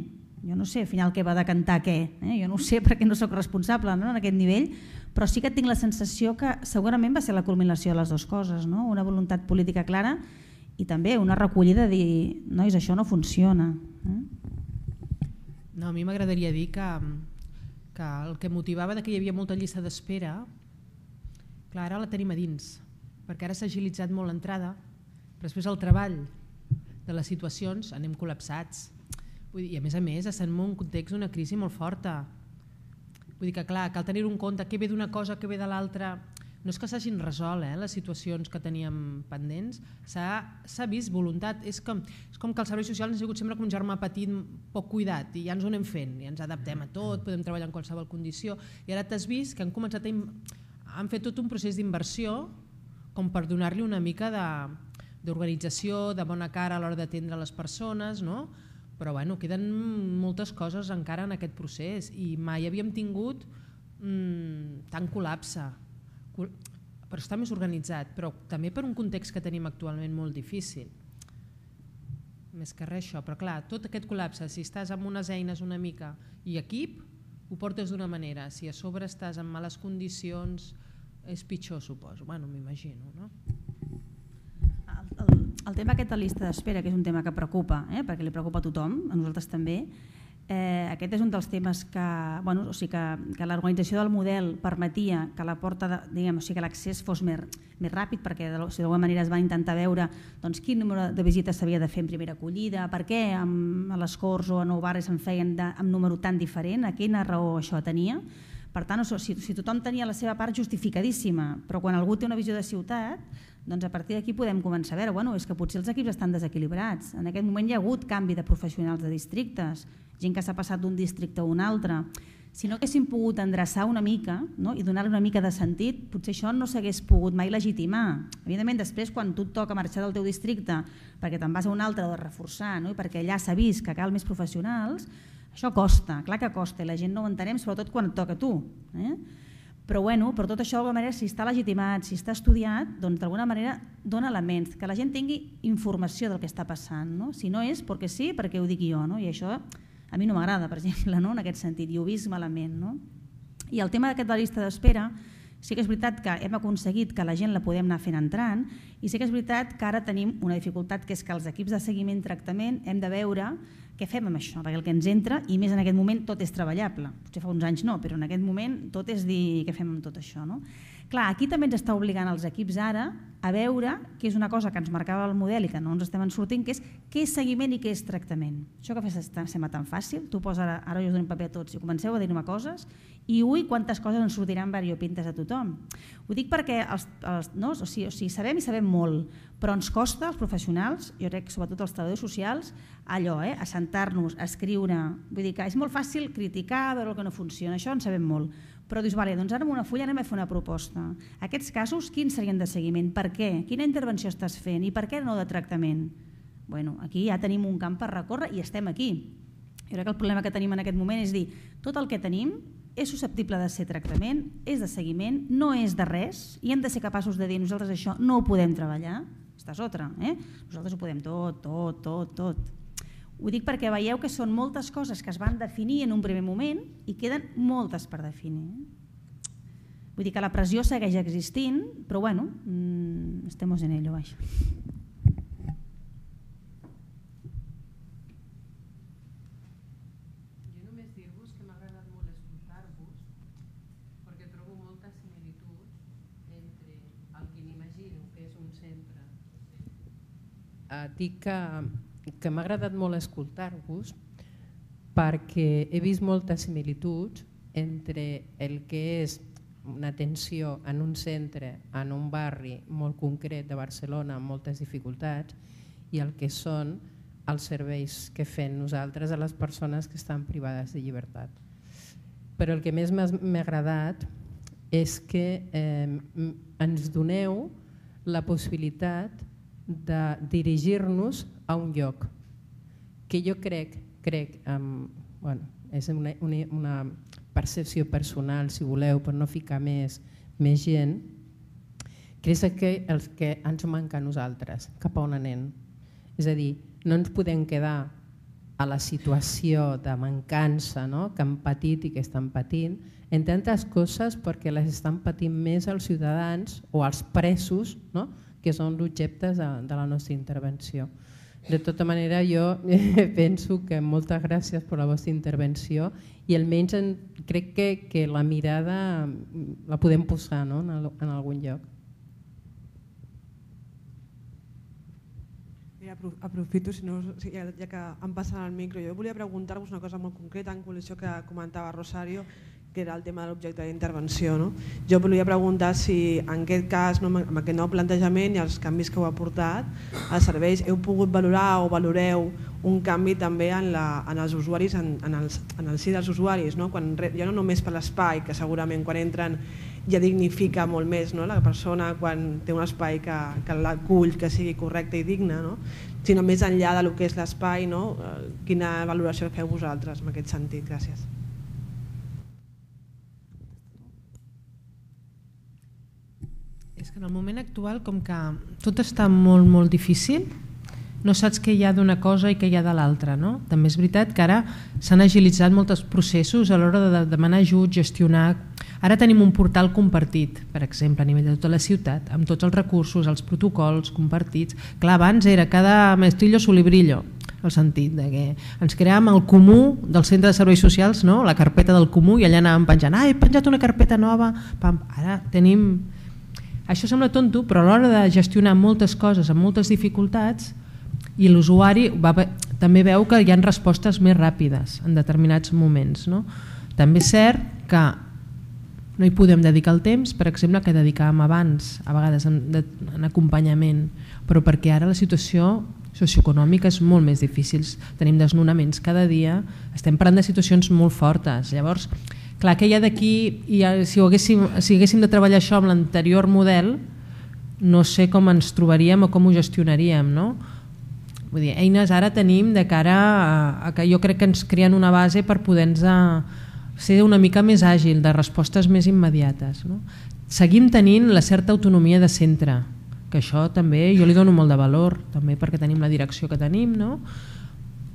Jo no sé al final què va decantar què, eh? Jo no ho sé perquè no soc responsable, no, en aquest nivell, però sí que tinc la sensació que segurament va ser la culminació de les dues coses, no? Una voluntat política clara i també una recollida de dir, nois, això no funciona. Eh? No, a mi m'agradaria dir que, que el que motivava de que hi havia molta llista d'espera, clar, ara la tenim a dins, perquè ara s'ha agilitzat molt l'entrada, però després el treball de les situacions anem col·lapsats. Vull dir, i a més a més estem en un context d'una crisi molt forta. Vull dir que clar, cal tenir en compte què ve d'una cosa, què ve de l'altra. No és que s'hagin resolt eh, les situacions que teníem pendents, s'ha vist voluntat. És com, és com que els serveis socials han sigut sempre com un germà petit poc cuidat i ja ens ho anem fent, i ens adaptem a tot, podem treballar en qualsevol condició. I ara t'has vist que han començat a... han fet tot un procés d'inversió com per donar-li una mica d'organització, de bona cara a l'hora d'atendre les persones, no? Però bueno, queden moltes coses encara en aquest procés i mai havíem tingut mmm, tant col·lapse. Però està més organitzat, però també per un context que tenim actualment molt difícil. Més que res això, però clar, tot aquest col·lapse, si estàs amb unes eines una mica i equip, ho portes d'una manera. Si a sobre estàs en males condicions, és pitjor, suposo. Bueno, m'imagino, no? El, el tema aquest de llista d'espera, que és un tema que preocupa, eh, perquè li preocupa a tothom, a nosaltres també, eh, aquest és un dels temes que, bueno, o sigui que, que l'organització del model permetia que la porta, de, diguem, o sigui que l'accés fos més, més ràpid, perquè o sigui, d'alguna manera es van intentar veure doncs, quin número de visites s'havia de fer en primera acollida, per què amb, a les Corts o a Nou Barris en feien de, amb número tan diferent, a quina raó això tenia. Per tant, si, si tothom tenia la seva part justificadíssima, però quan algú té una visió de ciutat, doncs a partir d'aquí podem començar a veure, bueno, és que potser els equips estan desequilibrats. En aquest moment hi ha hagut canvi de professionals de districtes, gent que s'ha passat d'un districte a un altre. Si no haguéssim pogut endreçar una mica, no? I donar-li una mica de sentit, potser això no s'hagués pogut mai legitimar. Evidentment, després, quan tu et toca marxar del teu districte perquè te'n vas a un altre o de reforçar, no? I perquè allà s'ha vist que cal més professionals, això costa, clar que costa, i la gent no ho entenem, sobretot quan et toca a tu. Eh? Però, bueno, per tot això, d'alguna manera, si està legitimat, si està estudiat, doncs d'alguna manera dona elements, que la gent tingui informació del que està passant. No? Si no és perquè sí, perquè ho dic jo, no? I això a mi no m'agrada, per exemple, no? En aquest sentit, i ho he vist malament. No? I el tema d'aquest de la llista d'espera, sí que és veritat que hem aconseguit que la gent la podem anar fent entrant, i sí que és veritat que ara tenim una dificultat, que és que els equips de seguiment i tractament hem de veure què fem amb això, perquè el que ens entra, i més en aquest moment, tot és treballable. Potser fa uns anys no, però en aquest moment tot és dir què fem amb tot això. No? Clar, aquí també ens està obligant els equips ara a veure, que és una cosa que ens marcava el model i que no ens estem en sortint, que és què és seguiment i què és tractament. Això que sembla tan fàcil, tu poses ara, ara jo us dono un paper a tots i comenceu a dir-me coses i ui, quantes coses ens sortiran variopintes a tothom. Ho dic perquè els, els, no? o sigui, o sigui, sabem i sabem molt, però ens costa, els professionals, jo crec sobretot els treballadors socials, allò, eh? A sentar-nos, a escriure. Vull dir que és molt fàcil criticar, veure el que no funciona, això en sabem molt. Però dius, vale, doncs ara amb una fulla anem a fer una proposta. Aquests casos, quins serien de seguiment? Per què? Quina intervenció estàs fent? I per què no de tractament? Bueno, aquí ja tenim un camp per recórrer i estem aquí. Jo crec que el problema que tenim en aquest moment és dir, tot el que tenim és susceptible de ser tractament, és de seguiment, no és de res, i hem de ser capaços de dir nosaltres això no ho podem treballar, esta és otra, eh? Nosaltres ho podem tot, tot, tot, tot. Ho dic perquè veieu que són moltes coses que es van definir en un primer moment i queden moltes per definir. Vull dir que la pressió segueix existint, però bueno, mmm, estem en ello, vaja. Dic que, que m'ha agradat molt escoltar-vos perquè he vist moltes similituds entre el que és una atenció en un centre, en un barri molt concret de Barcelona amb moltes dificultats i el que són els serveis que fem nosaltres a les persones que estan privades de llibertat. Però el que més m'ha agradat és que eh, ens doneu la possibilitat de dirigir-nos a un lloc que jo crec, crec um, bueno, és una, una, una percepció personal, si voleu, per no ficar més, més gent, que és que el que ens manca a nosaltres, cap a on anem. És a dir, no ens podem quedar a la situació de mancança, no? Que han patit i que estan patint, en tantes coses perquè les estan patint més els ciutadans o els presos, no? Que són l'objecte de, de la nostra intervenció. De tota manera, jo penso que moltes gràcies per la vostra intervenció i almenys en, crec que, que la mirada la podem posar, no? en, el, en algun lloc. Aprofito, si no, ja que em passen el micro, jo volia preguntar-vos una cosa molt concreta en col·lisió que comentava Rosario, que era el tema de l'objecte d'intervenció. No? Jo volia preguntar si en aquest cas, no, amb aquest nou plantejament i els canvis que heu aportat als serveis, heu pogut valorar o valoreu un canvi també en, la, en els usuaris, en, en, els, en el si dels usuaris, no? Quan, ja no només per l'espai, que segurament quan entren ja dignifica molt més, no? La persona quan té un espai que, que l'acull, que sigui correcte i digne, no? Sinó més enllà del que és l'espai, no? Quina valoració feu vosaltres en aquest sentit? Gràcies. És que en el moment actual, com que tot està molt, molt difícil, no saps què hi ha d'una cosa i què hi ha de l'altra. No? També és veritat que ara s'han agilitzat molts processos a l'hora de demanar ajut, gestionar. Ara tenim un portal compartit, per exemple, a nivell de tota la ciutat, amb tots els recursos, els protocols compartits. Clar, abans era cada maestrillo su librillo, el sentit de que ens creàvem el comú del centre de serveis socials, no? La carpeta del comú, i allà anàvem penjant, ah, he penjat una carpeta nova, pam. Ara tenim... Això sembla tonto, però a l'hora de gestionar moltes coses amb moltes dificultats, i l'usuari també veu que hi ha respostes més ràpides en determinats moments. No? També és cert que no hi podem dedicar el temps, per exemple, que dedicàvem abans, a vegades en, en acompanyament, però perquè ara la situació socioeconòmica és molt més difícil, tenim desnonaments cada dia, estem parlant de situacions molt fortes. Llavors, clar, que hi ha d'aquí, i si, haguéssim, si haguéssim de treballar això amb l'anterior model, no sé com ens trobaríem o com ho gestionaríem, no? Vull dir, eines ara tenim de cara a, a que jo crec que ens creen una base per poder-nos ser una mica més àgil, de respostes més immediates. No? Seguim tenint la certa autonomia de centre, que això també jo li dono molt de valor, també perquè tenim la direcció que tenim, no?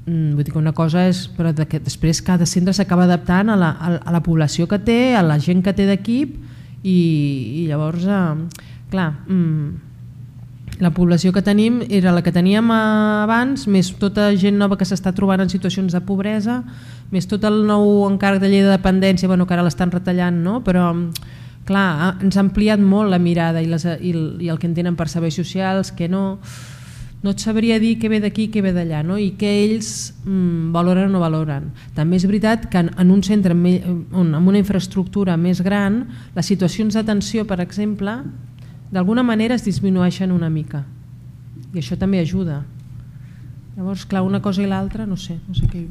Vull dir que una cosa és, però de que després cada centre s'acaba adaptant a la, a la població que té, a la gent que té d'equip, i, i llavors, eh, clar, la població que tenim era la que teníem abans, més tota gent nova que s'està trobant en situacions de pobresa, més tot el nou encàrrec de llei de dependència, bueno, que ara l'estan retallant, no? Però clar, ens ha ampliat molt la mirada i, les, i, el, i el que entenen per serveis socials, que no, no et sabria dir què ve d'aquí i què ve d'allà, no? I què ells mm, valoren o no valoren. També és veritat que en, en un centre amb una infraestructura més gran, les situacions d'atenció, per exemple, d'alguna manera es disminueixen una mica, i això també ajuda. Llavors, clar, una cosa i l'altra, no sé, no sé què...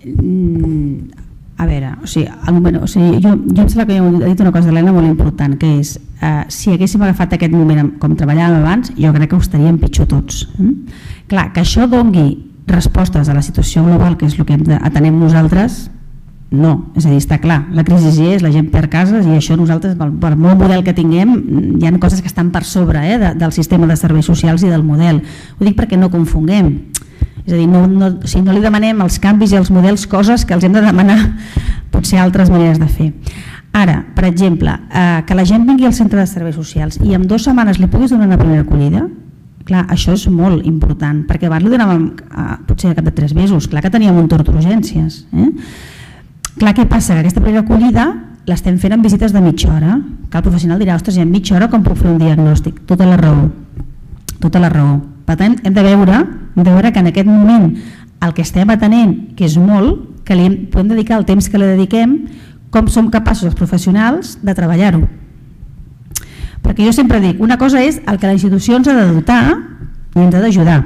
Mm, a veure, o sigui, moment, o sigui, jo, jo em sembla que he dit una cosa d'Helena molt important, que és, eh, si haguéssim agafat aquest moment com treballàvem abans, jo crec que ho estaríem pitjor tots. Mm? Clar, que això dongui respostes a la situació global, que és el que atenem nosaltres, no, és a dir, està clar, la crisi hi és, la gent perd cases, i això nosaltres, per molt model que tinguem, hi ha coses que estan per sobre eh, de, del sistema de serveis socials i del model. Ho dic perquè no confonguem, és a dir, no, no, si no li demanem als canvis i als models coses que els hem de demanar potser altres maneres de fer. Ara, per exemple, eh, que la gent vingui al centre de serveis socials i en dues setmanes li puguis donar una primera acollida, clar, això és molt important, perquè abans li donàvem eh, potser a cap de tres mesos, clar que teníem un torn d'urgències, eh? Clar, què passa? Que aquesta primera acollida l'estem fent en visites de mitja hora, que el professional dirà, ostres, i en mitja hora com puc fer un diagnòstic? Tota la raó, tota la raó. Per tant, hem de veure, hem de veure que en aquest moment el que estem atenent, que és molt, que li podem dedicar el temps que li dediquem, com som capaços els professionals de treballar-ho. Perquè jo sempre dic, una cosa és el que la institució ens ha de dotar i ens ha d'ajudar,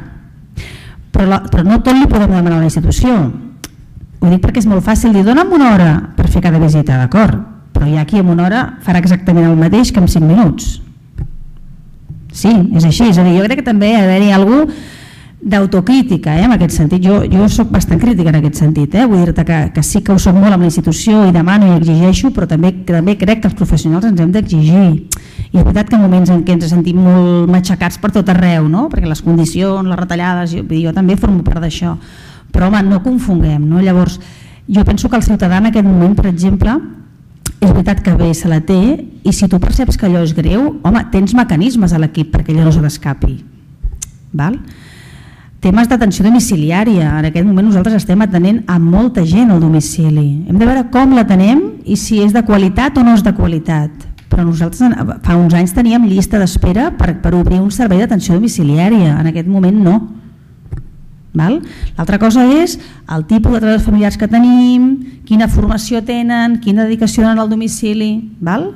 però, la, però no tot li podem demanar a la institució. Ho dic perquè és molt fàcil dir, dona'm una hora per fer cada visita, d'acord, però ja aquí en una hora farà exactament el mateix que en cinc minuts. Sí, és així, és a dir, jo crec que també ha d'haver-hi alguna d'autocrítica, eh, en aquest sentit. Jo, jo soc bastant crítica en aquest sentit, eh? Vull dir-te que, que sí que ho soc molt amb la institució i demano i exigeixo, però també, també crec que els professionals ens hem d'exigir. I és veritat que en moments en què ens sentim molt matxacats per tot arreu, no? Perquè les condicions, les retallades, jo, jo també formo part d'això. Però home, no confonguem, no? Llavors, jo penso que el ciutadà en aquest moment, per exemple, és veritat que bé se la té, i si tu perceps que allò és greu, home, tens mecanismes a l'equip perquè allò no se l'escapi. Val? Temes d'atenció domiciliària, en aquest moment nosaltres estem atenent a molta gent al domicili. Hem de veure com l'atenem i si és de qualitat o no és de qualitat, però nosaltres fa uns anys teníem llista d'espera per, per obrir un servei d'atenció domiciliària, en aquest moment no. L'altra cosa és el tipus de treballadors familiars que tenim, quina formació tenen, quina dedicació tenen al domicili. Val?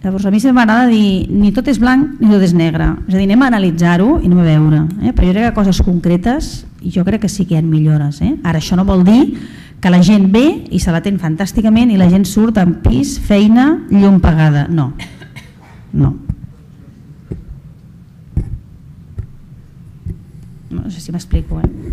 Llavors a mi sempre m'agrada dir ni tot és blanc ni tot és negre, és a dir, anem a analitzar-ho i anem a veure, eh? Però jo crec que coses concretes i jo crec que sí que hi ha millores. Eh? Ara això no vol dir que la gent ve i se l'atén fantàsticament i la gent surt amb pis, feina, llum pagada, no, no. No sé si m'explico, eh?